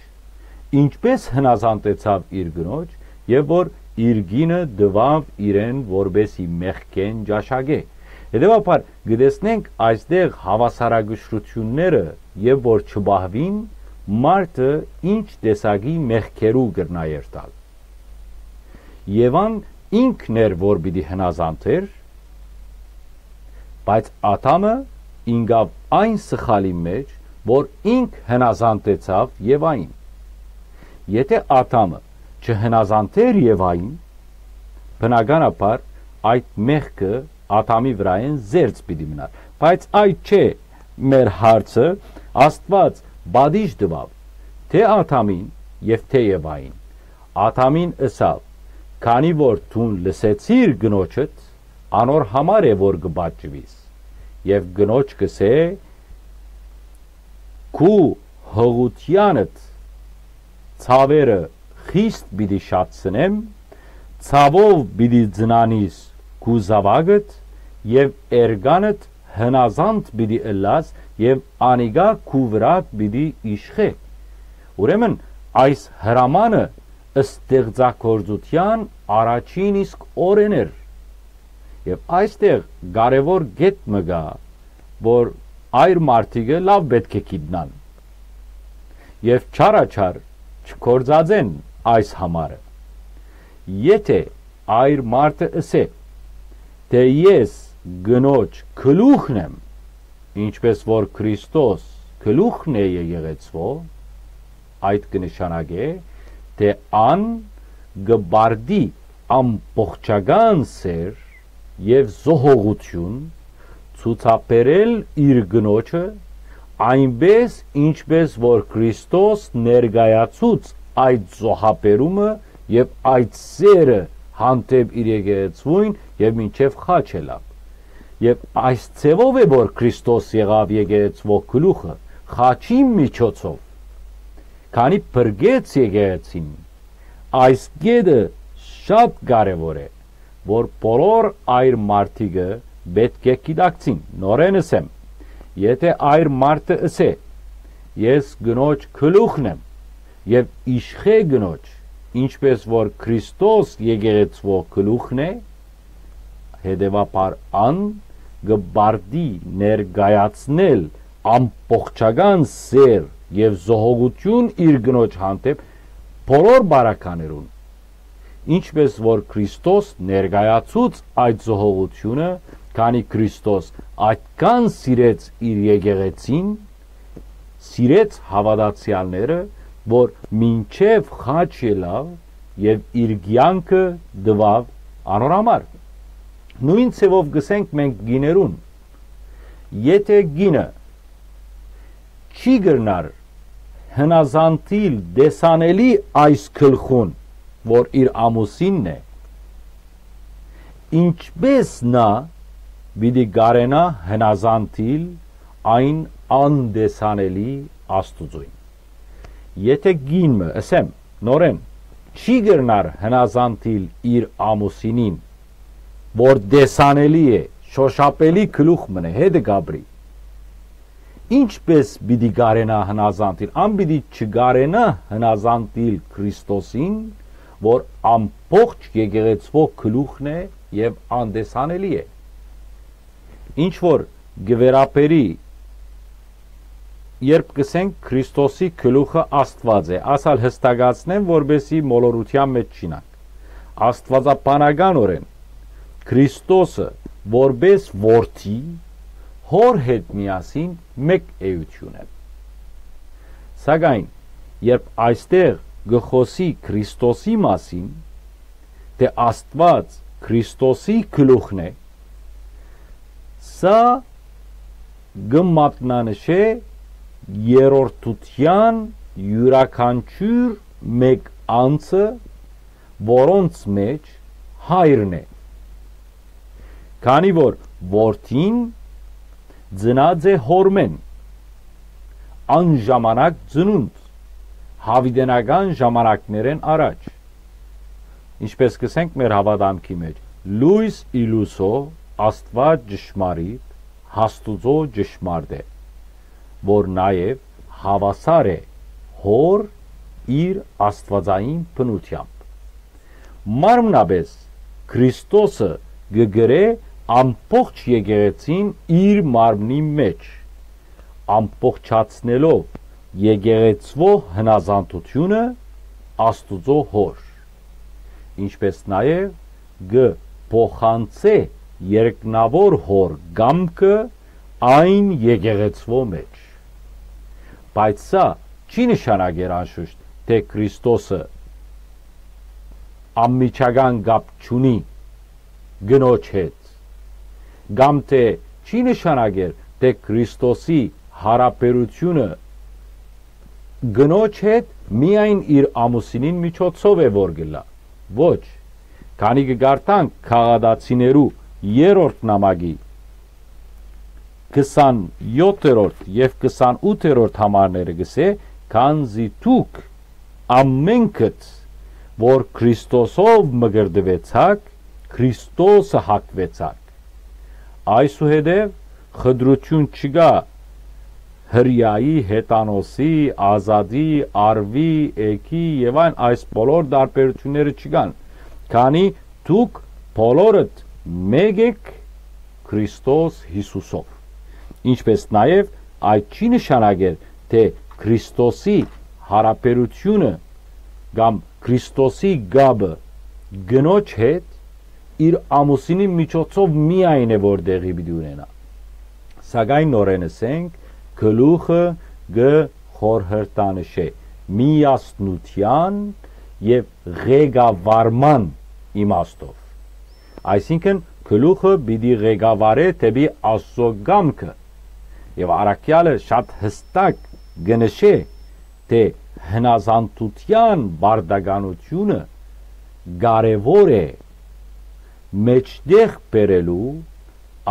Ինչպէս հնազանդեցաւ իր կնոջ, եւ որ իր կինը տուաւ իրեն որպէս զի մեղքէն ճաշակէ։ Հետեւաբար կը տեսնենք այստեղ հաւասարակշռութիւնները, եւ որ չպահուին, մարդը ինչ տեսակի մեղքերու կրնայ երթալ։ Եվան ինքն էր որ պիտի հնազանդ էր, բայց Ադամը ինկաւ այն սխալին մէջ, որ ինք հնազանդեցաւ Եվային։ Եթէ Ադամը չհնազանդ էր Եվային, բնականաբար այդ մեղքը Ադամի վրայէն զերծ պիտի մնար։ Բայց այդ չէ մեր հարցը, Աստուած պատիժ տուաւ թէ Ադամին եւ թէ Եվային։ Ադամին ըսաւ. «Քանի որ դուն լսեցիր կնոջդ, անոր համար է որ կը պատժուիս»։ Եւ կնոջ կ'ըսէ. «Քու յղութեանդ ցաւերը խիստ պիտի շատցնեմ, ցաւով պիտի ծնանիս քու զաւակդ եւ էրկանդ հնազանդ պիտի ըլլաս եւ անիկա քու վրադ պիտի իշխէ»։ Ուրեմն այս հրամանը ստեղծագործութեան առաջին իսկ օրէն էր։ Եւ այստեղ կարեւոր կետ մը կայ, որ այր մարդիկը լաւ պէտք է գիտնան եւ չարաչար չգործածեն այս համարը։ Եթէ այր մարդը ըսէ թէ «Ես կնոջ գլուխն եմ», ինչպէս որ Քրիստոս գլուխն է եկեղեցւոյ, այդ կը նշանակէ թէ ան կը պարտի ամբողջական սէր եւ զոհողութիւն ցուցաբերել իր կնոջը, այնպէս ինչպէս որ Քրիստոս ներկայացուց այդ զոհաբերումը եւ այդ սէրը հանդէպ իր եկեղեցւոյն եւ մինչեւ խաչ ելաւ։ Եւ այս ձեւով է որ Քրիստոս եղաւ եկեղեցւոյ գլուխը՝ խաչին միջոցով, քանի փրկեց եկեղեցին։ Այս կետը շատ կարեւոր է, որ բոլոր այր մարդիկը պէտք է գիտակցին։ Նորէն ըսեմ, եթէ այր մարդը ըսէ. «Ես կնոջ գլուխն եմ եւ իշխէ կնոջ», ինչպէս որ Քրիստոս եկեղեցւոյ գլուխն է, հետեւաբար ան կը պարտի ներկայացնել ամբողջական սէր եւ զոհողութիւն իր կնոջ հանդէպ բոլոր բարականերուն, ինչպէս որ Քրիստոս ներկայացուց այդ զոհողութիւնը, քանի Քրիստոս այդքան սիրեց իր եկեղեցին, սիրեց հաւատացեալները, որ մինչեւ խաչ ելաւ եւ իր կեանքը տուաւ անոր համար։ Նոյն ձեւով կ'ըսենք մենք կիներուն. եթէ կինը չի կրնար հնազանդիլ տեսանելի այս գլխուն, որ իր ամուսինն է, ինչպէս նա պիտի կարենայ հնազանդիլ այն անտեսանելի Աստուծոյն։ Եթէ կին մը, ըսեմ, նորէն, չի կրնար հնազանդիլ իր ամուսինին, որ տեսանելի է, շօշափելի գլուխ մըն է, հետը կ'ապրի, ինչպէս պիտի կարենայ հնազանդիլ, ան պիտի չկարենայ հնազանդիլ Քրիստոսին, որ ամբողջ եկեղեցւոյ գլուխն է եւ անտեսանելի է։ Ինչ որ կը վերաբերի, երբ կ'ըսենք Քրիստոսի գլուխը Աստուած է, ասալ հստակացնեմ, որպեսզի մոլորութեան մէջ չինանք։ Աստուածաբանականօրէն Քրիստոսը որպէս որդի հոր հետ միասին մէկ էութիւն են։ Սակայն երբ այստեղ կը խօսի Քրիստոսի մասին, թէ Աստուած Քրիստոսի գլուխն է, սա կը մատնանշէ երրորդութեան իւրաքանչիւր մէկ անձը, որոնց մէջ հայրն է, քանի որ որդին ծնած է հորմէն, անժամանակ ծնունդ, յաւիտենական ժամանակներէն առաջ։ Ինչպէս կ'ըսենք մեր հաւատամքի մէջ, լոյս ի լուսոյ, Աստուած ճշմարիտ, Աստուծոյ ճշմարտ է, որ նաեւ հաւասար է Հօր իր աստուածային բնութեամբ։ Մարմնապէս Քրիստոսը կը կրէ ամբողջ եկեղեցին իր մարմնին մէջ, ամբողջացնելով եկեղեցւոյ հնազանդութիւնը Աստուծոյ Հօր, ինչպէս նաեւ կը փոխանցէ երկնաւոր Հօր կամքը այն եկեղեցւոյ մէջ։ Բայց սա չի նշանակեր անշուշտ, թէ Քրիստոսը անմիջական կապ չունի կնոջ հետ, կամ թէ չի նշանակեր, թէ Քրիստոսի յարաբերութիւնը կնոջ հետ միայն իր ամուսինին միջոցով է որ կ'ըլլայ։ Ոչ, քանի կը կարդանք Գաղատացիներու երրորդ նամակի քսանեթերորդ եւ քսանութերորդ համարները կ'ըսէ, քանզի դուք ամէնքդ, որ Քրիստոսով մկրտուեցաք, Քրիստոսը հագուեցաք։ Այսուհետեւ խտրութիւն չկայ հրեայի, հեթանոսի, ազատի, արուի, էգի եւ այն այս բոլոր տարբերութիւնները չկան, քանի դուք բոլորդ մէկ էք Քրիստոս Յիսուսով։ Ինչպէս նաեւ այդ չի նշանակեր, թէ Քրիստոսի յարաբերութիւնը կամ Քրիստոսի կապը կնոջ հետ իր ամուսինի միջոցով միայն է, որ տեղի պիտի ունենայ։ Սակայն նորէն ըսենք, գլուխը կը խորհրդանշէ միասնութեան եւ ղեկավարման իմաստով։ Այսինքն, գլուխը պիտի ղեկավարէ դէպի Աստուծոյ կամքը, եւ առաքեալը շատ յստակ կը նշէ, թէ հնազանդութեան պարտականութիւնը կարեւոր է մէջտեղ բերելու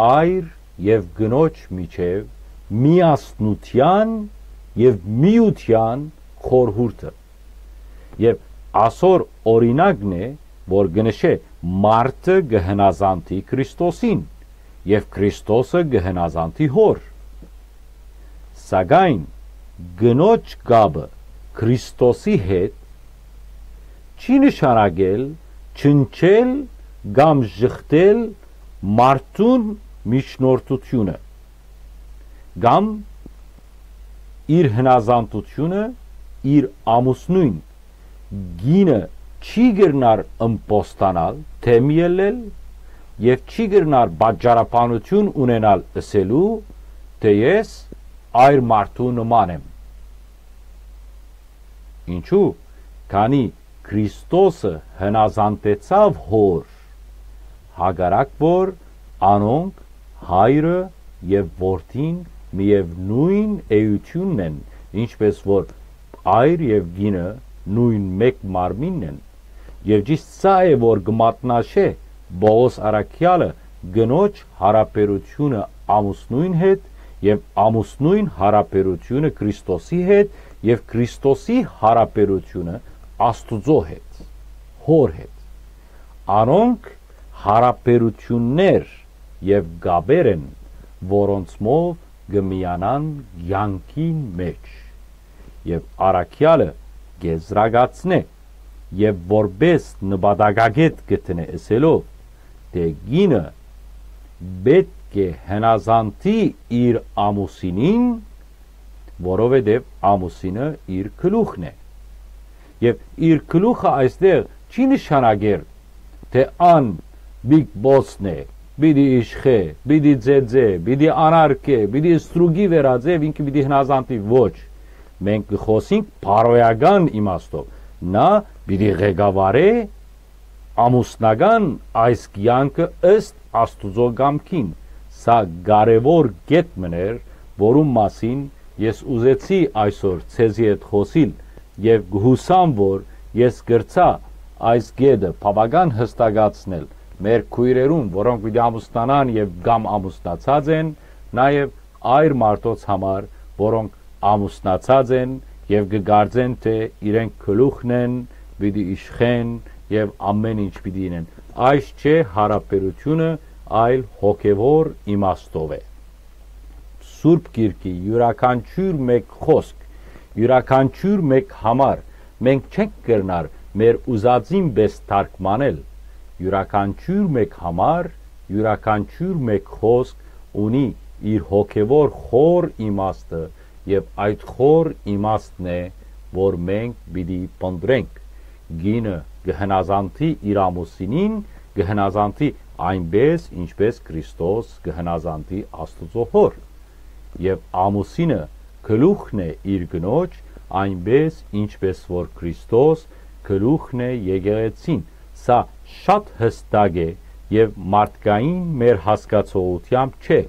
այր եւ կնոջ միջեւ միասնութեան եւ միութեան խորհուրդը։ Եւ ասոր օրինակն է, որ կը նշէ մարդը կը հնազանդի Քրիստոսին եւ Քրիստոսը կը հնազանդի Հօր։ Սակայն կնոջ կապը Քրիստոսի հետ չի նշանակել չնչել կամ ժխտել մարդուն միջնորդութիւնը կամ իր հնազանդութիւնը իր ամուսնոյն։ Կինը չի կրնար ըմբոստանալ, դէմ ելլել եւ չի կրնար պատճառաբանութիւն ունենալ ըսելու, թէ ես այր մարդու նման եմ։ Ինչու՞, քանի Քրիստոսը հնազանդեցաւ Հօր, հակառակ որ անոնք, հայրը եւ որդին, միեւնոյն էութիւնն են, ինչպէս որ այր եւ կինը նոյն մէկ մարմինն են։ Եւ ճիշդ սա է, որ կը մատնաշէ Պողոս առաքեալը կնոջ յարաբերութիւնը ամուսնոյն հետ եւ ամուսնոյն յարաբերութիւնը Քրիստոսի հետ եւ Քրիստոսի յարաբերութիւնը Աստուծոյ հետ, Հօր հետ։ Անոնք յարաբերութիւններ եւ կապեր են, որոնցմով կը միանան կեանքին մէջ։ Եւ առաքեալը կեզրակացնէ եւ որպէս նպատակագէտ կը դնէ, ըսելով թէ կինը պէտք է հնազանդի իր ամուսինին, որովհետեւ ամուսինը իր գլուխն է։ Եւ իր գլուխը այստեղ չի նշանակեր թէ ան Big Boss-ն է, պիտի իշխէ, պիտի ծեծէ, պիտի անարգէ, պիտի ստրուկի վերածէ, ինքը պիտի հնազանդի։ Ոչ։ Մենք կը խօսինք բարոյական իմաստով։ Նա պիտի ղեկավարէ ամուսնական այս կեանքը ըստ Աստուծոյ կամքին։ Սա կարեւոր կետ մըն էր, որուն մասին ես ուզեցի այսօր ձեզի հետ խօսիլ եւ կը յուսամ, որ ես կրցայ այս կետը բաւական յստակացնել մեր քոյրերուն, որոնք պիտի ամուսնանան եւ կամ ամուսնացած են, նաեւ այր մարդոց համար, որոնք ամուսնացած են եւ կը կարծեն թէ իրենք գլուխն են, պիտի իշխեն եւ ամէն ինչ պիտի ինեն։ Այս չէ յարաբերութիւնը, այլ հոգեւոր իմաստով է։ Սուրբ Գիրքի իւրաքանչիւր մէկ խօսք, իւրաքանչիւր մէկ համար մենք չենք կրնար մեր ուզածին պէս թարգմանել։ Իւրաքանչիւր մէկ համար, իւրաքանչիւր մէկ խօսք ունի իր հոգեւոր խոր իմաստը եւ այդ խոր իմաստն է, որ մենք պիտի փնտռենք։ Կինը կը հնազանդի իր ամուսինին, կը հնազանդի այնպէս, ինչպէս Քրիստոս կը հնազանդի Աստուծոյ Հօր։ Եւ ամուսինը գլուխն է իր կնոջ, այնպէս, ինչպէս որ Քրիստոս գլուխն է եկեղեցին։ Սա շատ յստակ է եւ մարդկային մեր հասկացողութեամբ չէ,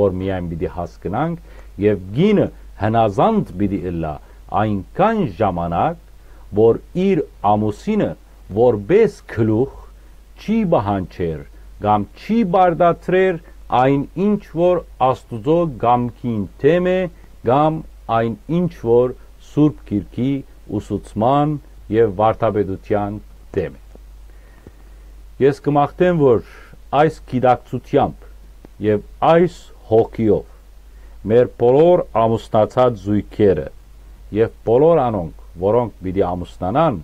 որ միայն պիտի հասկնանք, եւ կինը հնազանդ պիտի ըլլայ այնքան ժամանակ, որ իր ամուսինը որպէս գլուխ չի պահանջեր կամ չի պարտադրեր այն ինչ որ Աստուծոյ կամքին դէմ է կամ այն ինչ որ Սուրբ Գիրքի ուսուցման եւ վարդապետութեան դէմ է։ Ես կը մաղթեմ, որ այս գիտակցութեամբ եւ այս հոգիով մեր բոլոր ամուսնացած զոյգերը եւ բոլոր անոնք, որոնք պիտի ամուսնանան,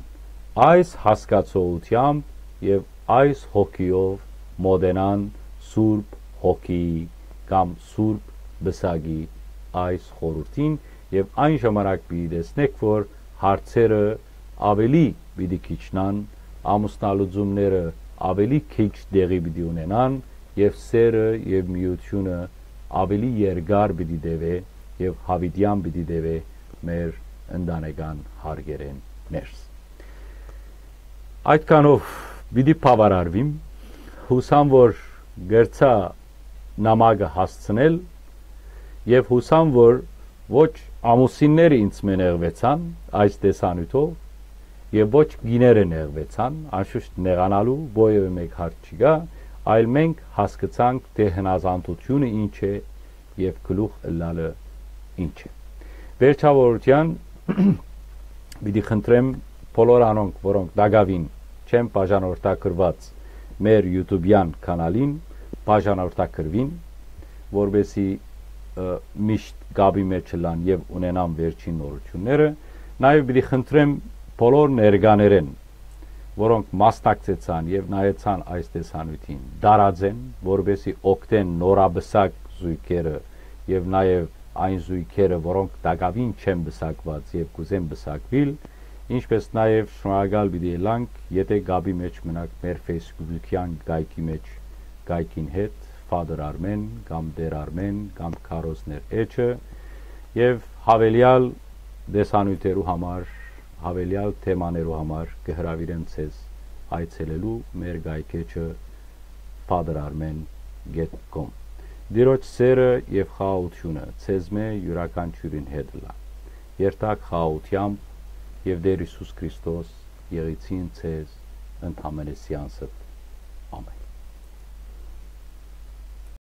այս հասկացողութեամբ եւ այս հոգիով մոտենան Սուրբ Հոգիի կամ Սուրբ Պսակի այս խորհուրդին, եւ այն ժամանակ պիտի տեսնէք, որ հարցերը աւելի պիտի քիչնան, ամուսնալուծումները աւելի քիչ տեղի պիտի ունենան, եւ սերը եւ միութիւնը աւելի երկար պիտի տեւէ եւ յաւիտեան պիտի տեւէ մեր ընտանեկան հարկերէն ներս։ Այդքանով պիտի բաւարարվիմ, յուսամ, որ կրցայ նամակը հասցնել եւ յուսամ, որ ոչ ամուսինները ինձ մէ նեղուեցան այս տեսանիւթով եւ ոչ կիները նեղուեցան, անշուշտ նեղանալու որեւէ մէկ հարց չկայ, այլ մենք հասկցանք թէ հնազանդութիւնը ինչ է եւ գլուխ ըլլալը ինչ է։ Վերջաւորութեան պիտի խնդրեմ բոլոր անոնք, որոնք տակաւին չեն բաժանորդագրուած մեր YouTube-յան կանալին, բաժանորդագրուին, որպեսզի, ը, միշտ կապի մէջ ըլլան եւ ունենան վերջին նորութիւնները։ Նաեւ պիտի խնդրեմ բոլոր ներկաներէն, որոնք մասնակցեցան եւ նայեցան այս տեսանիւթին, տարածեն, որպեսզի օգնեն նորապսակ զոյգերը եւ նաեւ այն զոյգերը, որոնք տակաւին չեն պսակուած եւ կ'ուզեն պսակուիլ, ինչպէս նաեւ շնորհակալ պիտի ըլլանք, եթէ կապի մէջ մնաք մեր Facebook-յան կայքի մէջ, կայքին հետ, Father Armen կամ Տէր Արմեն կամ Քարոզներ էջը, եւ յաւելեալ տեսանիւթերու համար, յաւելեալ թեմաներու համար կը հրաւիրեմ ձեզ այցելելու մեր կայքէջը Փատր Արմեն գեթ կոմ։ Տիրոջ սէրը եւ խաղաղութիւնը ձեզմէ իւրաքանչիւրին հետ ըլլայ։ Երթաք խաղաղութեամբ, եւ Տէր Յիսուս Քրիստոս եղիցին ձեզ ընդամենեսեանստ։ Ամէն։